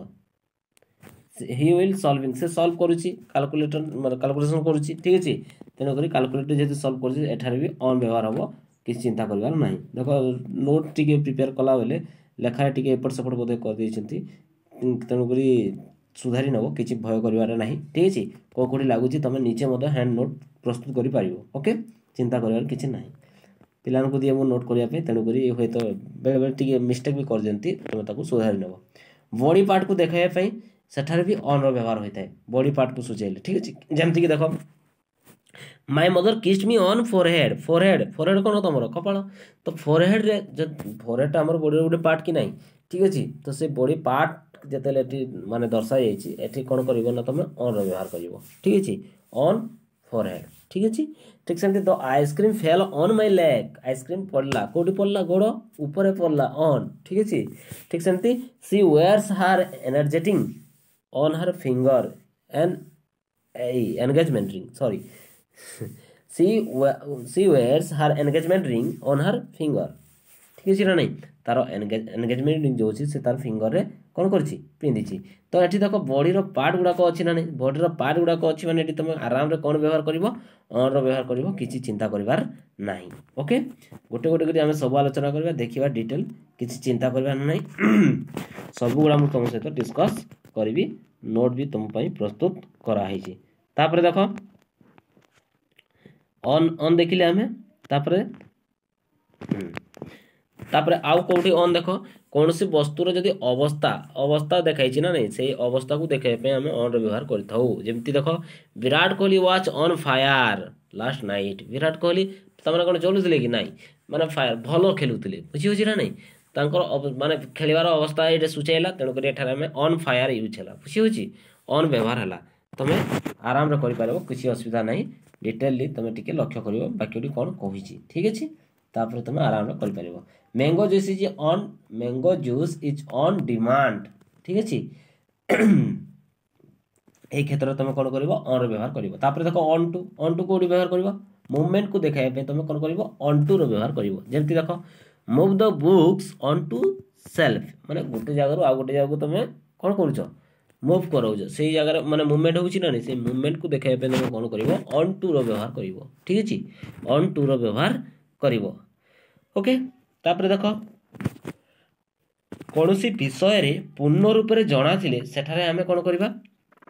he will solving, ସେ ସଲ୍ଭ କରୁଛି, କାଲକୁଲେଟର ମାନେ କାଲକୁଲେସନ୍ କରୁଛି। ଠିକ୍ ଅଛି? ତେଣୁକରି କାଲକୁଲେଟର ଯେହେତୁ ସଲ୍ଭ କରୁଛି, ଏଠାରେ ବି ଅନ୍ ବ୍ୟବହାର ହେବ, କିଛି ଚିନ୍ତା କରିବାର ନାହିଁ। ଦେଖ, ନୋଟ୍ ଟିକେ ପ୍ରିପେୟାର କଲାବେଳେ ଲେଖାରେ ଟିକେ ଏପଟ ସେପଟ ବୋଧେ କରିଦେଇଛନ୍ତି, ତେଣୁକରି ସୁଧାରି ନେବ, କିଛି ଭୟ କରିବାର ନାହିଁ। ଠିକ୍ ଅଛି? କେଉଁ କେଉଁଠି ଲାଗୁଛି, ତୁମେ ନିଜେ ମଧ୍ୟ ହ୍ୟାଣ୍ଡ ନୋଟ୍ ପ୍ରସ୍ତୁତ କରିପାରିବ। ଓକେ, ଚିନ୍ତା କରିବାର କିଛି ନାହିଁ। ପିଲାମାନଙ୍କୁ ଦିଏ ମୁଁ ନୋଟ୍ କରିବା ପାଇଁ, ତେଣୁକରି ହୁଏତ ବେଳେବେଳେ ଟିକେ ମିଷ୍ଟେକ୍ ବି କରିଦିଅନ୍ତି, ତୁମେ ତାକୁ ସୁଧାରି ନେବ। ବଡି ପାର୍ଟକୁ ଦେଖାଇବା ପାଇଁ ସେଠାରେ ବି ଅନ୍ର ବ୍ୟବହାର ହୋଇଥାଏ, ବଡି ପାର୍ଟକୁ ସୂଚାଇଲେ। ଠିକ୍ ଅଛି? ଯେମିତିକି ଦେଖ, my mother kissed me on forehead. Forehead, forehead କ'ଣ ତୁମର କପାଳ। ତ ଫୋରହେଡ଼୍ରେ, ଫୋରହେଡ଼୍ଟା ଆମର ବଡ଼ିର ଗୋଟେ ପାର୍ଟ କି ନାହିଁ? ଠିକ୍ ଅଛି? ତ ସେ ବଡି ପାର୍ଟ ଯେତେବେଳେ ଏଠି ମାନେ ଦର୍ଶାଯାଇଛି, ଏଠି କ'ଣ କରିବ ନା ତୁମେ ଅନ୍ର ବ୍ୟବହାର କରିବ। ଠିକ୍ ଅଛି? On forehead. ଠିକ୍ ଅଛି? ଠିକ୍ ସେମିତି the ice cream fell on my leg. Ice cream ପଡ଼ିଲା, କେଉଁଠି ପଡ଼ିଲା? ଗୋଡ଼ ଉପରେ ପଡ଼ିଲା, ଅନ୍। ଠିକ୍ ଅଛି? ଠିକ୍ ସେମିତି she wears her energetic on her finger and ଏଇ engagement ring, sorry, she wears her engagement ring on her finger. ଠିକ୍ ଅଛି ନା ନାହିଁ? ତାର ଏନଗେଜମେଣ୍ଟ ରିଙ୍ଗ ଯେଉଁ ଅଛି, ସେ ତାର ଫିଙ୍ଗରରେ କ'ଣ କରିଛି? ପିନ୍ଧିଛି। ତ ଏଠି ଦେଖ, ବଡ଼ିର ପାର୍ଟ ଗୁଡ଼ାକ ଅଛି ନା ନାହିଁ? ବଡ଼ିର ପାର୍ଟ ଗୁଡ଼ାକ ଅଛି ମାନେ ଏଠି ତୁମେ ଆରାମରେ କ'ଣ ବ୍ୟବହାର କରିବ? ଅନ୍ର ବ୍ୟବହାର କରିବ, କିଛି ଚିନ୍ତା କରିବାର ନାହିଁ। ଓକେ, ଗୋଟେ ଗୋଟେ କରି ଆମେ ସବୁ ଆଲୋଚନା କରିବା, ଦେଖିବା ଡିଟେଲ, କିଛି ଚିନ୍ତା କରିବାର ନାହିଁ। ସବୁଗୁଡ଼ା ମୁଁ ତୁମ ସହିତ ଡିସ୍କସ୍ କରିବି, ନୋଟ୍ ବି ତୁମ ପାଇଁ ପ୍ରସ୍ତୁତ କରାହେଇଛି। ତାପରେ ଦେଖ, ଅନ୍ ଅନ୍ ଦେଖିଲେ ଆମେ। ତାପରେ ଆଉ କେଉଁଠି ଅନ୍ ଦେଖ, କୌଣସି ବସ୍ତୁର ଯଦି ଅବସ୍ଥା ଦେଖାଇଛି ନା ନାହିଁ, ସେଇ ଅବସ୍ଥାକୁ ଦେଖାଇବା ପାଇଁ ଆମେ ଅନ୍ର ବ୍ୟବହାର କରିଥାଉ। ଯେମିତି ଦେଖ, "Virat Kohli was on fire last night." Virat Kohli ତାମାନେ କ'ଣ ଜଳୁଥିଲେ କି ନାହିଁ? ମାନେ ଫାୟାର, ଭଲ ଖେଳୁଥିଲେ। ବୁଝି ହେଉଛି ନା ନାହିଁ? ତାଙ୍କର ମାନେ ଖେଳିବାର ଅବସ୍ଥା ଏଇଟା ସୂଚାଇଲା। ତେଣୁକରି ଏଠାରେ ଆମେ ଅନ୍ ଫାୟାର ୟୁଜ୍ ହେଲା। ବୁଝି ହେଉଛି? ଅନ୍ ବ୍ୟବହାର ହେଲା। ତୁମେ ଆରାମରେ କରିପାରିବ, କିଛି ଅସୁବିଧା ନାହିଁ। ଡିଟେଲଲି ତୁମେ ଟିକେ ଲକ୍ଷ୍ୟ କରିବ ବାକ୍ୟଟି କ'ଣ କହିଛି। ଠିକ୍ ଅଛି, ତାପରେ ତୁମେ ଆରାମରେ କରିପାରିବ। Mango juice is on demand. ଠିକ୍ ଅଛି, ଏଇ କ୍ଷେତ୍ରରେ ତୁମେ କ'ଣ କରିବ? ଅନ୍ର ବ୍ୟବହାର କରିବ। ତାପରେ ଦେଖ, ଅନ୍ ଟୁ। ଅନ୍ ଟୁ କେଉଁଠି ବ୍ୟବହାର କରିବ? ମୁଭମେଣ୍ଟକୁ ଦେଖାଇବା ପାଇଁ ତୁମେ କ'ଣ କରିବ? ଅନ୍ ଟୁର ବ୍ୟବହାର କରିବ। ଯେମିତି ଦେଖ, "Move the books on to shelf." ମାନେ ଗୋଟେ ଜାଗାରୁ ଆଉ ଗୋଟେ ଜାଗାକୁ ତୁମେ କ'ଣ କରୁଛ? ମୁଭ୍ କରାଉଛ। ସେଇ ଜାଗାରେ ମାନେ ମୁଭମେଣ୍ଟ ହେଉଛି ନା ନାହିଁ? ସେଇ ମୁଭମେଣ୍ଟକୁ ଦେଖାଇବା ପାଇଁ ତୁମେ କ'ଣ କରିବ? ଅନ୍ ଟୁର ବ୍ୟବହାର କରିବ। ଠିକ୍ ଅଛି, ଅନ୍ ଟୁର ବ୍ୟବହାର କରିବ। ଓକେ, ତାପରେ ଦେଖ, କୌଣସି ବିଷୟରେ ପୂର୍ଣ୍ଣ ରୂପରେ ଜଣାଥିଲେ ସେଠାରେ ଆମେ କ'ଣ କରିବା?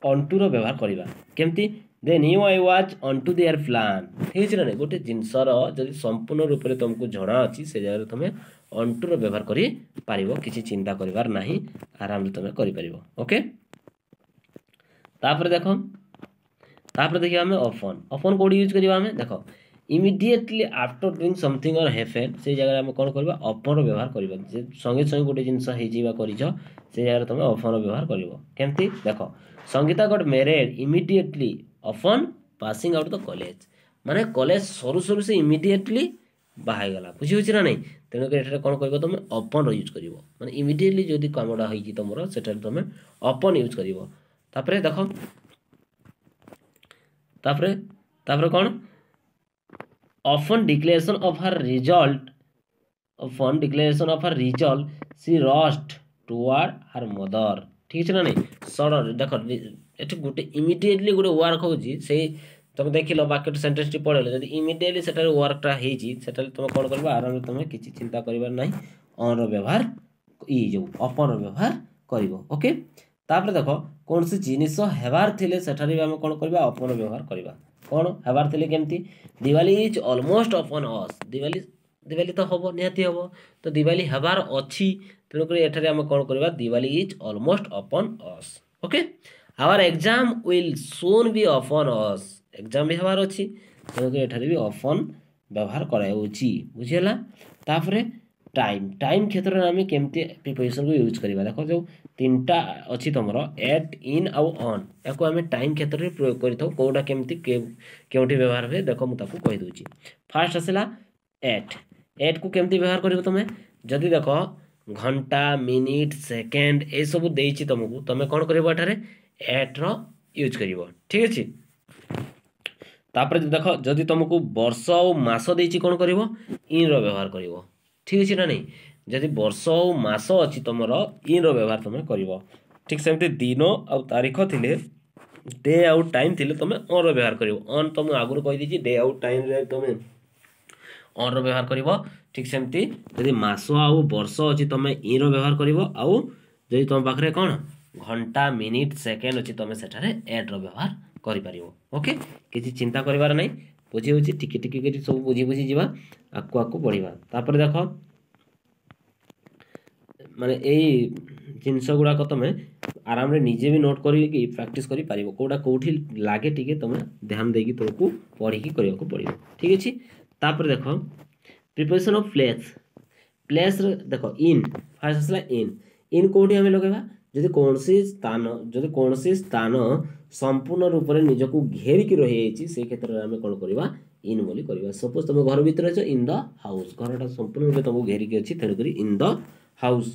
ଅନ୍ ଟୁର ବ୍ୟବହାର କରିବା। କେମିତି? "They knew I was on to their plan." ଠିକ୍ ଅଛି ନା ନାହିଁ? ଗୋଟେ ଜିନିଷର ଯଦି ସମ୍ପୂର୍ଣ୍ଣ ରୂପରେ ତୁମକୁ ଜଣା ଅଛି, ସେ ଜାଗାରେ ତୁମେ ଅନ୍ ଟୁର ବ୍ୟବହାର କରିପାରିବ। କିଛି ଚିନ୍ତା କରିବାର ନାହିଁ, ଆରାମରେ ତୁମେ କରିପାରିବ। ଓକେ, ତାପରେ ଦେଖ, ତାପରେ ଦେଖିବା ଆମେ ଅପନ୍। ଅପନ୍ କେଉଁଠି ୟୁଜ୍ କରିବା ଆମେ? ଦେଖ, immediately after doing something or happen, ସେଇ ଜାଗାରେ ଆମେ କ'ଣ କରିବା? ଅପନ୍ର ବ୍ୟବହାର କରିବା। ଯେ ସଙ୍ଗେ ସଙ୍ଗେ ଗୋଟେ ଜିନିଷ ହେଇଯିବା କରିଛ, ସେଇ ଜାଗାରେ ତୁମେ ଅପନ୍ର ବ୍ୟବହାର କରିବ। କେମିତି ଦେଖ, "Sangeeta got married immediately upon passing out the college." ମାନେ କଲେଜ ସରୁ ସରୁ ସେ ଇମିଡ଼ିଏଟଲି ବାହା ହେଇଗଲା। ବୁଝି ହେଉଛି ନା ନାହିଁ? ତେଣୁକରି ଏଠାରେ କ'ଣ କରିବ ତୁମେ? ଅପନ୍ର ୟୁଜ୍ କରିବ। ମାନେ ଇମିଡ଼ିଏଟଲି ଯଦି କାମଟା ହେଇଛି ତୁମର, ସେଠାରେ ତୁମେ ଅପନ୍ ୟୁଜ୍ କରିବ। ତାପରେ ଦେଖ, ତାପରେ କ'ଣ? Upon declaration of her result, she rushed toward her mother. ଠିକ୍ ଅଛି ନା ନାହିଁ? ସଡନ୍ ଦେଖ, ଏଠି ଗୋଟେ ଇମିଡ଼ିଏଟଲି ଗୋଟେ ୱାର୍କ ହେଉଛି। ସେଇ ତମେ ଦେଖିଲ, ବାକ୍ୟଟି, ସେଣ୍ଟେନ୍ସଟି ପଢ଼ିଲ, ଯଦି ଇମିଡ଼ିଏଟଲି ସେଠାରେ ୱାର୍କଟା ହେଇଛି, ସେଠାରେ ତୁମେ କ'ଣ କରିବ? ଆରାମରେ ତୁମେ କିଛି ଚିନ୍ତା କରିବାର ନାହିଁ, ଅନ୍ର ବ୍ୟବହାର, ଇ ଯେଉଁ ଅପନ୍ର ବ୍ୟବହାର କରିବ। ଓକେ, ତାପରେ ଦେଖ, କୌଣସି ଜିନିଷ ହେବାର ଥିଲେ ସେଠାରେ ବି ଆମେ କ'ଣ କରିବା? ଅପନ୍ର ବ୍ୟବହାର କରିବା। କ'ଣ ହେବାର ଥିଲେ କେମିତି? "Diwali is almost upon us." Diwali ତ ହେବ, ନିହାତି ହେବ। ତ ଦିୱାଲି ହେବାର ଅଛି, ତେଣୁକରି ଏଠାରେ ଆମେ କ'ଣ କରିବା? "Diwali is almost upon us." Okay, "Our exam will soon be upon us." Exam ବି ହେବାର ଅଛି, ତେଣୁକରି ଏଠାରେ ବି ଅପନ୍ ବ୍ୟବହାର କରାଯାଉଛି। ବୁଝିହେଲା? ତାପରେ ଟାଇମ୍। ଟାଇମ୍ କ୍ଷେତ୍ରରେ ଆମେ କେମିତି ପ୍ରିପୋଜିସନ୍କୁ ୟୁଜ୍ କରିବା? ଦେଖ, ଯେଉଁ ତିନିଟା ଅଛି ତୁମର, ଏଟ୍, ଇନ୍ ଆଉ ଅନ୍, ୟାକୁ ଆମେ ଟାଇମ୍ କ୍ଷେତ୍ରରେ ପ୍ରୟୋଗ କରିଥାଉ। କେଉଁଟା କେମିତି କେଉଁଠି ବ୍ୟବହାର ହୁଏ, ଦେଖ, ମୁଁ ତାକୁ କହିଦେଉଛି। ଫାର୍ଷ୍ଟ ଆସିଲା ଏଟ୍। ଏଟ୍କୁ କେମିତି ବ୍ୟବହାର କରିବ ତୁମେ? ଯଦି ଦେଖ, ଘଣ୍ଟା, ମିନିଟ୍, ସେକେଣ୍ଡ ଏସବୁ ଦେଇଛି ତୁମକୁ, ତୁମେ କ'ଣ କରିବ? ଏଠାରେ ଏଟ୍ର ୟୁଜ୍ କରିବ। ଠିକ୍ ଅଛି? ତାପରେ ଦେଖ, ଯଦି ତୁମକୁ ବର୍ଷ ଆଉ ମାସ ଦେଇଛି, କ'ଣ କରିବ? ଇନ୍ର ବ୍ୟବହାର କରିବ। ଠିକ୍ ଅଛି ନା ନାହିଁ? ଯଦି ବର୍ଷ ଆଉ ମାସ ଅଛି ତୁମର, ଇନ୍ର ବ୍ୟବହାର ତୁମେ କରିବ। ଠିକ୍ ସେମିତି ଦିନ ଆଉ ତାରିଖ ଥିଲେ, ଡେ ଆଉ ଟାଇମ୍ ଥିଲେ ତୁମେ ଅନ୍ର ବ୍ୟବହାର କରିବ। ଅନ୍ ତ ମୁଁ ଆଗରୁ କହିଦେଇଛି, ଡେ ଆଉ ଟାଇମ୍ରେ ତୁମେ ଅନ୍ର ବ୍ୟବହାର କରିବ। ଠିକ୍ ସେମିତି ଯଦି ମାସ ଆଉ ବର୍ଷ ଅଛି, ତୁମେ ଇନ୍ର ବ୍ୟବହାର କରିବ। ଆଉ ଯଦି ତୁମ ପାଖରେ କ'ଣ ଘଣ୍ଟା, ମିନିଟ୍, ସେକେଣ୍ଡ ଅଛି, ତୁମେ ସେଠାରେ ଏଟ୍ର ବ୍ୟବହାର କରିପାରିବ। ଓକେ, କିଛି ଚିନ୍ତା କରିବାର ନାହିଁ। ବୁଝି ହେଉଛି? ଟିକେ ଟିକେ କରି ସବୁ ବୁଝି ବୁଝି ଯିବା, ଆଗକୁ ଆଗକୁ ବଢ଼ିବା। ତାପରେ ଦେଖ, ମାନେ ଏଇ ଜିନିଷ ଗୁଡ଼ାକ ତୁମେ ଆରାମରେ ନିଜେ ବି ନୋଟ୍ କରିକି ପ୍ରାକ୍ଟିସ୍ କରିପାରିବ। କେଉଁଟା କେଉଁଠି ଲାଗେ, ଟିକେ ତୁମେ ଧ୍ୟାନ ଦେଇକି ତୁମକୁ ପଢ଼ିକି କରିବାକୁ ପଡ଼ିବ। ଠିକ୍ ଅଛି? ତାପରେ ଦେଖ, ପ୍ରିପୋଜିସନ୍ ଅଫ୍ ପ୍ଲେସ୍। ପ୍ଲେସ୍ରେ ଦେଖ, ଇନ୍ ଫାର୍ଷ୍ଟ ଆସିଲା। ଇନ୍। ଇନ୍ କେଉଁଠି ଆମେ ଲଗାଇବା? ଯଦି କୌଣସି ସ୍ଥାନ ସମ୍ପୂର୍ଣ୍ଣ ରୂପରେ ନିଜକୁ ଘେରିକି ରହିଯାଇଛି, ସେଇ କ୍ଷେତ୍ରରେ ଆମେ କ'ଣ କରିବା? ଇନ୍ ବୋଲି କରିବା। ସପୋଜ୍ ତୁମେ ଘର ଭିତରେ ଅଛ, ଇନ୍ the house. ଘରଟା ସମ୍ପୂର୍ଣ୍ଣ ରୂପେ ତୁମକୁ ଘେରିକି ଅଛି, ତେଣୁକରି ଇନ୍ the house.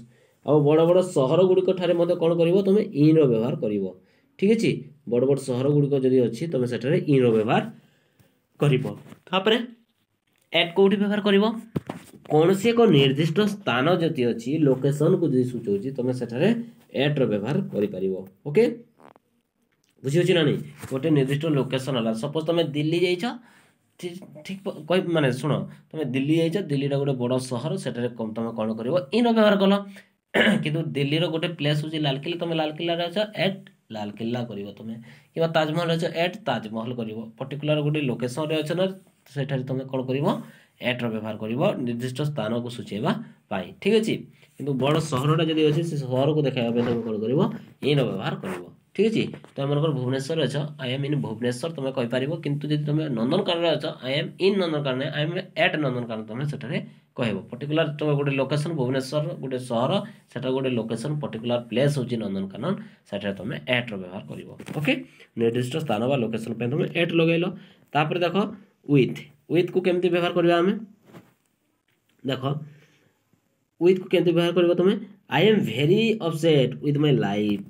ଆଉ ବଡ଼ ବଡ଼ ସହର ଗୁଡ଼ିକ ଠାରେ ମଧ୍ୟ କ'ଣ କରିବ ତୁମେ? ଇନ୍ର ବ୍ୟବହାର କରିବ। ଠିକ୍ ଅଛି? ବଡ଼ ବଡ଼ ସହର ଗୁଡ଼ିକ ଯଦି ଅଛି, ତୁମେ ସେଠାରେ ଇନ୍ର ବ୍ୟବହାର କରିବ। ତାପରେ ଏଟ୍ କେଉଁଠି ବ୍ୟବହାର କରିବ? କୌଣସି ଏକ ନିର୍ଦ୍ଦିଷ୍ଟ ସ୍ଥାନ ଯଦି ଅଛି, ଲୋକେସନକୁ ଯଦି ସୂଚାଉଛି, ତୁମେ ସେଠାରେ ଏଟ୍ର ବ୍ୟବହାର କରିପାରିବ। ଓକେ, ବୁଝିହେଉଛି ନା ନାହିଁ? ଗୋଟେ ନିର୍ଦ୍ଦିଷ୍ଟ ଲୋକେସନ ହେଲା, ସପୋଜ ତୁମେ ଦିଲ୍ଲୀ ଯାଇଛ, ଠିକ୍ କହି ମାନେ ଶୁଣ, ତୁମେ ଦିଲ୍ଲୀ ଯାଇଛ, ଦିଲ୍ଲୀଟା ଗୋଟେ ବଡ଼ ସହର, ସେଠାରେ ତୁମେ କ'ଣ କରିବ? ଇନ୍ର ବ୍ୟବହାର କଲ। କିନ୍ତୁ ଦିଲ୍ଲୀର ଗୋଟେ ପ୍ଲେସ୍ ହେଉଛି ଲାଲକିଲ୍ଲା, ତୁମେ ଲାଲକିଲ୍ଲାରେ ଅଛ, ଏଟ୍ ଲାଲକିଲ୍ଲା କରିବ ତୁମେ। କିମ୍ବା ତାଜମହଲ ଅଛ, ଏଟ୍ ତାଜମହଲ କରିବ। ପର୍ଟିକୁଲାର ଗୋଟେ ଲୋକେସନରେ ଅଛ ନା, ସେଠାରେ ତୁମେ କ'ଣ କରିବ? ଏଟ୍ର ବ୍ୟବହାର କରିବ ନିର୍ଦ୍ଦିଷ୍ଟ ସ୍ଥାନକୁ ସୂଚାଇବା ପାଇଁ। ଠିକ୍ ଅଛି? କିନ୍ତୁ ବଡ଼ ସହରଟା ଯଦି ଅଛି, ସେ ସହରକୁ ଦେଖାଇବା ପାଇଁ ତୁମେ କ'ଣ କରିବ? ଇନ୍ର ବ୍ୟବହାର କରିବ। ଠିକ୍ ଅଛି? ତୁମେ ମନେକର ଭୁବନେଶ୍ୱରରେ ଅଛ, "I am in Bhubaneswar" ତୁମେ କହିପାରିବ। କିନ୍ତୁ ଯଦି ତୁମେ ନନ୍ଦନକାନନରେ ଅଛ, "I am in Nandankanan", "I am at Nandankanan" ତୁମେ ସେଠାରେ କହିବ। ପର୍ଟିକୁଲାର ତୁମେ ଗୋଟେ ଲୋକେସନ୍, ଭୁବନେଶ୍ୱର ଗୋଟେ ସହର, ସେଟା ଗୋଟେ ଲୋକେସନ୍, ପର୍ଟିକୁଲାର ପ୍ଲେସ୍ ହେଉଛି ନନ୍ଦନକାନନ, ସେଠାରେ ତୁମେ ଏଟ୍ର ବ୍ୟବହାର କରିବ। ଓକେ, ନିର୍ଦ୍ଦିଷ୍ଟ ସ୍ଥାନ ବା ଲୋକେସନ୍ ପାଇଁ ତୁମେ ଏଟ୍ ଲଗାଇଲ। ତାପରେ ଦେଖ ୱିଥ୍। ୱିଥ୍କୁ କେମିତି ବ୍ୟବହାର କରିବା ଆମେ? ଦେଖ, ୱିଥ୍କୁ କେମିତି ବ୍ୟବହାର କରିବ ତୁମେ? "I am very upset with my life."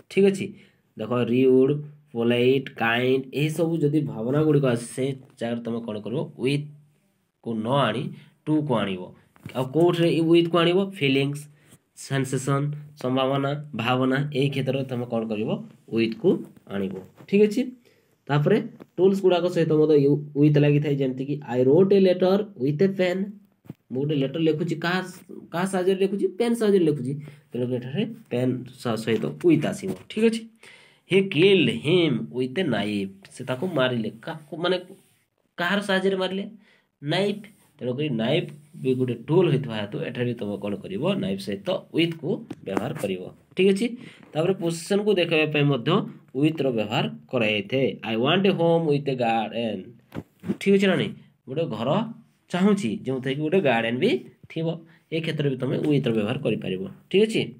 ଠିକ୍ ଅଛି? ଦେଖ, ରିଉଡ୍, ପୋଲାଇଟ୍, କାଇଣ୍ଡ, ଏହିସବୁ ଯଦି ଭାବନା ଗୁଡ଼ିକ ଆସେ, ସେ ଜାଗାରେ ତୁମେ କ'ଣ କରିବ? ୱିଥ୍କୁ ନ ଆଣି ଟୁକୁ ଆଣିବ। ଆଉ କେଉଁଥିରେ ୱିଥ୍କୁ ଆଣିବ? ଫିଲିଙ୍ଗସ୍, ସେନ୍ସେସନ୍, ସମ୍ଭାବନା, ଭାବନା, ଏଇ କ୍ଷେତ୍ରରେ ତୁମେ କ'ଣ କରିବ? ୱିଥ୍କୁ ଆଣିବ। ଠିକ୍ ଅଛି? ତାପରେ ଟୁଲ୍ସ ଗୁଡ଼ାକ ସହିତ ମଧ୍ୟ ୱିଥ୍ ଲାଗିଥାଏ, ଯେମିତିକି "I wrote a letter with a pen." ମୁଁ ଗୋଟେ ଲେଟର୍ ଲେଖୁଛି, କାହା କାହା ସାହାଯ୍ୟରେ ଲେଖୁଛି? ପେନ୍ ସାହାଯ୍ୟରେ ଲେଖୁଛି। ତେଣୁ ଏଠାରେ ପେନ୍ ସହିତ ୱିଥ୍ ଆସିବ। ଠିକ୍ ଅଛି? "He killed him with a knife." ସେ ତାକୁ ମାରିଲେ, ମାନେ କାହାର ସାହାଯ୍ୟରେ ମାରିଲେ? ନାଇଫ୍। ତେଣୁକରି ନାଇଫ୍ ବି ଗୋଟେ ଟୁଲ୍ ହୋଇଥିବା ହେତୁ ଏଠାରେ ବି ତୁମେ କ'ଣ କରିବ? ନାଇଫ୍ ସହିତ ୱିଥ୍କୁ ବ୍ୟବହାର କରିବ। ଠିକ୍ ଅଛି? ତାପରେ ପୋଜିସନ୍କୁ ଦେଖାଇବା ପାଇଁ ମଧ୍ୟ ୱିଥ୍ର ବ୍ୟବହାର କରାଯାଇଥାଏ। "I want a home with a garden." ଠିକ୍ ଅଛି ନା ନାହିଁ? ଗୋଟେ ଘର ଚାହୁଁଛି, ଯେଉଁଥିରେ କି ଗୋଟେ ଗାର୍ଡେନ୍ ବି ଥିବ। ଏ କ୍ଷେତ୍ରରେ ବି ତୁମେ ୱିଥ୍ର ବ୍ୟବହାର କରିପାରିବ। ଠିକ୍ ଅଛି?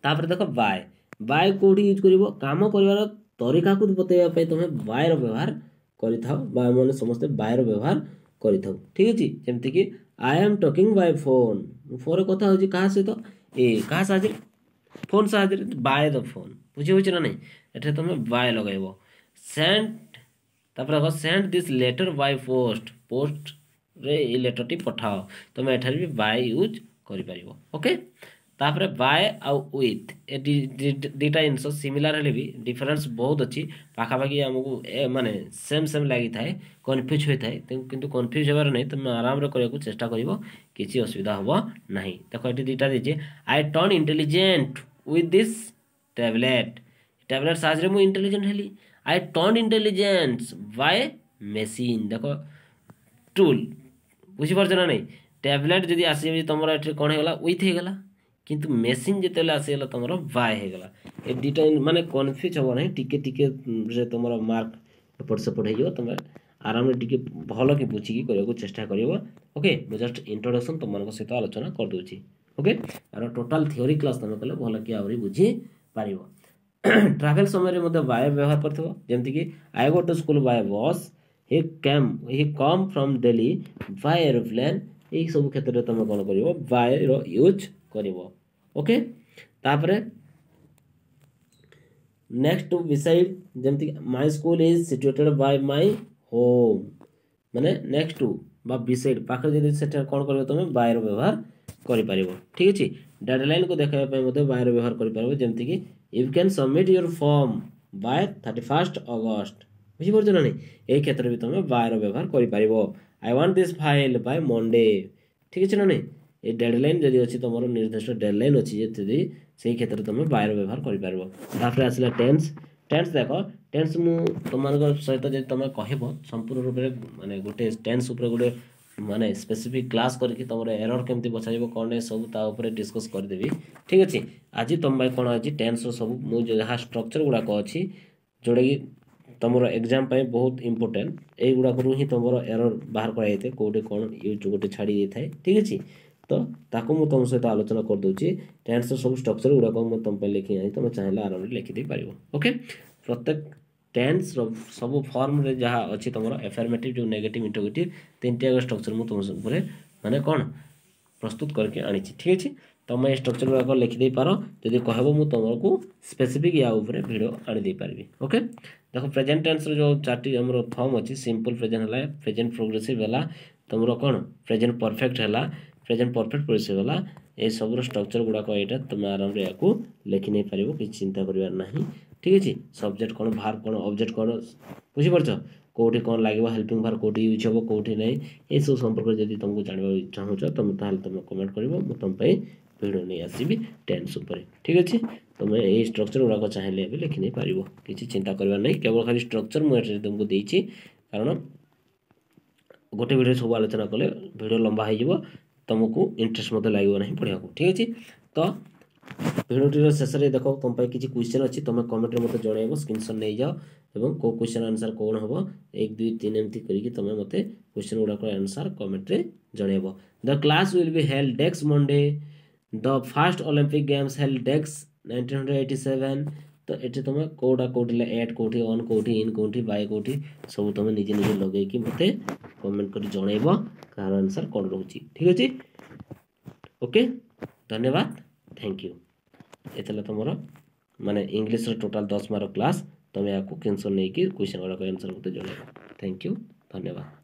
ତାପରେ ଦେଖ ବାଏ। ବାଏ କେଉଁଠି ୟୁଜ୍ କରିବ? କାମ କରିବାର ତରିକାକୁ ବତେଇବା ପାଇଁ ତୁମେ ବାଏର ବ୍ୟବହାର କରିଥାଅ ବା ଆମେ ସମସ୍ତେ ବାଏର ବ୍ୟବହାର କରିଥାଉ। ଠିକ୍ ଅଛି? ଯେମିତିକି "I am talking by phone." ମୁଁ ଫୋନ୍ରେ କଥା ହେଉଛି। କାହା ସହିତ? ଏ କାହା ସାହାଯ୍ୟରେ? ଫୋନ୍ ସାହାଯ୍ୟରେ, ବାଏ the phone. ବୁଝି ହେଉଛି ନା ନାହିଁ? ଏଠାରେ ତୁମେ ବାଏ ଲଗାଇବ। ସେଣ୍ଡ, ତାପରେ ଦେଖ, "Send this letter by post." ପୋଷ୍ଟରେ ଏଇ ଲେଟର୍ଟି ପଠାଅ। ତୁମେ ଏଠାରେ ବି ବାଏ ୟୁଜ୍ କରିପାରିବ। ଓକେ, ତାପରେ ବାଏ ଆଉ ୱିଥ୍ ଏ ଦୁଇଟା ଜିନିଷ ସିମିଲାର ହେଲେ ବି ଡିଫରେନ୍ସ ବହୁତ ଅଛି। ପାଖାପାଖି ଆମକୁ ଏ ମାନେ ସେମ୍ ସେମ୍ ଲାଗିଥାଏ, କନଫ୍ୟୁଜ୍ ହୋଇଥାଏ। କିନ୍ତୁ କନଫ୍ୟୁଜ୍ ହେବାର ନାହିଁ, ତୁମେ ଆରାମରେ କରିବାକୁ ଚେଷ୍ଟା କରିବ, କିଛି ଅସୁବିଧା ହେବ ନାହିଁ। ଦେଖ, ଏଠି ଦୁଇଟା ଦେଇଛି। "I turn intelligent with this tablet." Tablet ସାହାଯ୍ୟରେ ମୁଁ ଇଣ୍ଟେଲିଜେଣ୍ଟ ହେଲି। "I turn intelligence by machine." ଦେଖ, ଟୁଲ୍। ବୁଝିପାରୁଛ ନା ନାହିଁ? ଟ୍ୟାବଲେଟ୍ ଯଦି ଆସିବ ତୁମର, ଏଠି କ'ଣ ହେଇଗଲା? ୱିଥ୍ ହେଇଗଲା। କିନ୍ତୁ ମେସିନ୍ ଯେତେବେଳେ ଆସିଗଲା, ତୁମର ବାଏ ହେଇଗଲା। ଏ ଦୁଇଟା ମାନେ କନଫ୍ୟୁଜ୍ ହେବ ନାହିଁ। ଟିକେ ଟିକେ ସେ ତୁମର ମାର୍କ ଏପଟ ସେପଟ ହେଇଯିବ। ତୁମେ ଆରାମରେ ଟିକେ ଭଲ କି ବୁଝିକି କରିବାକୁ ଚେଷ୍ଟା କରିବ। ଓକେ, ମୁଁ ଜଷ୍ଟ ଇଣ୍ଟ୍ରୋଡକ୍ସନ୍ ତୁମମାନଙ୍କ ସହିତ ଆଲୋଚନା କରିଦେଉଛି। ଓକେ, ଆର ଟୋଟାଲ୍ ଥିଓରି କ୍ଲାସ୍ ତୁମେ କଲେ ଭଲ କି ଆହୁରି ବୁଝିପାରିବ। ଟ୍ରାଭେଲ୍ ସମୟରେ ମଧ୍ୟ ବାଏ ବ୍ୟବହାର କରିଥିବ, ଯେମିତିକି "I go to school by bus." He come from Delhi by aeroplane." ଏଇସବୁ କ୍ଷେତ୍ରରେ ତୁମେ କ'ଣ କରିବ? ବାଏର ୟୁଜ୍ କରିବ। ଓକେ, ତାପରେ ନେକ୍ସଟ ଟୁ, ବିସାଇଡ୍, ଯେମିତିକି "My school is situated by my home." ମାନେ ନେକ୍ସଟ ଟୁ ବା ବିସାଇଡ୍, ପାଖରେ ଯଦି, ସେଠାରେ କ'ଣ କରିବ? ତୁମେ ବାଏର ବ୍ୟବହାର କରିପାରିବ। ଠିକ୍ ଅଛି? ଡେଡ଼ଲାଇନ୍କୁ ଦେଖାଇବା ପାଇଁ ମଧ୍ୟ ବାଏର ବ୍ୟବହାର କରିପାରିବ, ଯେମିତିକି "You can submit your form by 31st August." ବୁଝିପାରୁଛ ନା ନାହିଁ? ଏଇ କ୍ଷେତ୍ରରେ ବି ତୁମେ ବାଏର ବ୍ୟବହାର କରିପାରିବ। "I want this file by Monday." ଠିକ୍ ଅଛି ନା ନାହିଁ? ଏ ଡେଡ଼ଲାଇନ୍ ଯଦି ଅଛି, ତୁମର ନିର୍ଦ୍ଦିଷ୍ଟ ଡେଡ଼ଲାଇନ୍ ଅଛି ଯଦି, ସେଇ କ୍ଷେତ୍ରରେ ତୁମେ ବାଏର ବ୍ୟବହାର କରିପାରିବ। ତାପରେ ଆସିଲା ଟେନ୍ସ। ଟେନ୍ସ ଦେଖ, ଟେନ୍ସ ମୁଁ ତୁମମାନଙ୍କ ସହିତ ଯଦି ତୁମେ କହିବ, ସମ୍ପୂର୍ଣ୍ଣ ରୂପରେ ମାନେ ଗୋଟେ ଟେନ୍ସ ଉପରେ ଗୋଟେ ମାନେ ସ୍ପେସିଫିକ୍ କ୍ଲାସ୍ କରିକି ତୁମର ଏରର୍ କେମିତି ବଛାଯିବ, କ'ଣ ସବୁ ତା ଉପରେ ଡିସ୍କସ୍ କରିଦେବି। ଠିକ୍ ଅଛି? ଆଜି ତୁମ ପାଇଁ କ'ଣ ଅଛି? ଟେନ୍ସର ସବୁ ମୁଁ ଯାହା ଷ୍ଟ୍ରକ୍ଚର୍ ଗୁଡ଼ାକ ଅଛି, ଯେଉଁଟାକି ତୁମର ଏକ୍ଜାମ୍ ପାଇଁ ବହୁତ ଇମ୍ପୋର୍ଟାଣ୍ଟ, ଏଇଗୁଡ଼ାକରୁ ହିଁ ତୁମର ଏରର୍ ବାହାର କରାଯାଇଥାଏ, କେଉଁଠି କ'ଣ ୟୁଜ୍ ଗୋଟେ ଛାଡ଼ି ଦେଇଥାଏ। ଠିକ୍ ଅଛି? ତ ତାକୁ ମୁଁ ତୁମ ସହିତ ଆଲୋଚନା କରିଦେଉଛି। ଟେନ୍ସର ସବୁ ଷ୍ଟ୍ରକ୍ଚର୍ ଗୁଡ଼ାକ ମୁଁ ତୁମ ପାଇଁ ଲେଖି ଆଣି, ତୁମେ ଚାହିଁଲେ ଆରାମରେ ଲେଖିଦେଇପାରିବ। ଓକେ, ପ୍ରତ୍ୟେକ ଟେନ୍ସର ସବୁ ଫର୍ମରେ ଯାହା ଅଛି ତୁମର ଏଫର୍ମେଟିଭ୍, ଯେଉଁ ନେଗେଟିଭ୍, ଇଣ୍ଟରୋଗେଟିଭ୍, ତିନିଟି ଯାକ ଷ୍ଟ୍ରକ୍ଚର୍ ମୁଁ ତୁମ ଉପରେ ମାନେ କ'ଣ ପ୍ରସ୍ତୁତ କରିକି ଆଣିଛି। ଠିକ୍ ଅଛି? ତୁମେ ଏ ଷ୍ଟ୍ରକ୍ଚର୍ ଗୁଡ଼ାକ ଲେଖିଦେଇପାର। ଯଦି କହିବ, ମୁଁ ତୁମକୁ ସ୍ପେସିଫିକ୍ ୟା ଉପରେ ଭିଡ଼ିଓ ଆଣିଦେଇପାରିବି। ଓକେ, ଦେଖ, ପ୍ରେଜେଣ୍ଟ ଟେନ୍ସର ଯେଉଁ ଚାରିଟି ଆମର ଫର୍ମ ଅଛି, ସିମ୍ପଲ୍ ପ୍ରେଜେଣ୍ଟ ହେଲା, ପ୍ରେଜେଣ୍ଟ ପ୍ରୋଗ୍ରେସିଭ୍ ହେଲା, ତୁମର କ'ଣ ପ୍ରେଜେଣ୍ଟ ପରଫେକ୍ଟ ହେଲା, ପ୍ରେଜେଣ୍ଟ ପରଫେକ୍ଟ ପ୍ରୋଗ୍ରେସିଭ୍ ହେଲା, ଏସବୁର ଷ୍ଟ୍ରକ୍ଚର ଗୁଡ଼ାକ ଏଇଟା ତୁମେ ଆରାମରେ ୟାକୁ ଲେଖି ନେଇପାରିବ, କିଛି ଚିନ୍ତା କରିବାର ନାହିଁ। ଠିକ୍ ଅଛି, ସବଜେକ୍ଟ କ'ଣ, ଭାର୍ବ କ'ଣ, ଅବଜେକ୍ଟ କ'ଣ, ବୁଝିପାରୁଛ? କେଉଁଠି କ'ଣ ଲାଗିବ, ହେଲ୍ପିଂ ଭାର୍ବ କେଉଁଠି ୟୁଜ୍ ହେବ, କେଉଁଠି ନାହିଁ, ଏସବୁ ସମ୍ପର୍କରେ ଯଦି ତୁମକୁ ଜାଣିବାକୁ ଚାହୁଁଛ ତୁମେ, ତାହେଲେ ତୁମେ କମେଣ୍ଟ କରିବ, ମୁଁ ତୁମ ପାଇଁ ଭିଡ଼ିଓ ନେଇ ଆସିବି ଟେନ୍ସ ଉପରେ। ଠିକ୍ ଅଛି, ତୁମେ ଏଇ ଷ୍ଟ୍ରକ୍ଚର ଗୁଡ଼ାକ ଚାହିଁଲେ ଏବେ ଲେଖି ନେଇପାରିବ, କିଛି ଚିନ୍ତା କରିବାର ନାହିଁ। କେବଳ ଖାଲି ଷ୍ଟ୍ରକ୍ଚର ମୁଁ ଏଠି ତୁମକୁ ଦେଇଛି, କାରଣ ଗୋଟେ ଭିଡ଼ିଓ ସବୁ ଆଲୋଚନା କଲେ ଭିଡ଼ିଓ ଲମ୍ବା ହେଇଯିବ, ତୁମକୁ ଇଣ୍ଟରେଷ୍ଟ ମଧ୍ୟ ଲାଗିବ ନାହିଁ ପଢ଼ିବାକୁ। ଠିକ୍ ଅଛି, ତ ଭିଡ଼ିଓଟିର ଶେଷରେ ଦେଖ ତୁମ ପାଇଁ କିଛି କ୍ୱେଶ୍ଚନ୍ ଅଛି, ତୁମେ କମେଣ୍ଟରେ ମୋତେ ଜଣାଇବ, ସ୍କ୍ରିନସଟ୍ ନେଇଯାଅ ଏବଂ କେଉଁ କ୍ୱେଶ୍ଚନ୍ ଆନ୍ସର୍ କ'ଣ ହେବ 1 2 3 ଏମିତି କରିକି ତୁମେ ମୋତେ କ୍ୱେଶ୍ଚନ୍ ଗୁଡ଼ାକର ଆନ୍ସର୍ କମେଣ୍ଟରେ ଜଣାଇବ। The class will be held dash Monday, the first Olympic Games held dash 1987। ତ ଏଠି ତୁମେ କେଉଁଟା କେଉଁଠି ଏଟ୍ କେଉଁଠି, ଅନ୍ କେଉଁଠି, ଇନ୍ କେଉଁଠି, ବାଇ କେଉଁଠି, ସବୁ ତୁମେ ନିଜେ ନିଜେ ଲଗେଇକି ମୋତେ କମେଣ୍ଟ କରି ଜଣାଇବ କାହାର ଆନ୍ସର୍ କ'ଣ ରହୁଛି। ଠିକ୍ ଅଛି, ଓକେ, ଧନ୍ୟବାଦ, thank you. ଏ ଥିଲା ତୁମର ମାନେ ଇଂଲିଶର ଟୋଟାଲ୍ 10 ମାର୍କ କ୍ଲାସ୍। ତୁମେ ଏହାକୁ କ୍ରିନସଟ୍ ନେଇକି କ୍ୱେଶ୍ଚନ୍ ଗୁଡ଼ାକ ଆନ୍ସର୍ ମୋତେ ଜଣାଇବ। Thank you, ଧନ୍ୟବାଦ।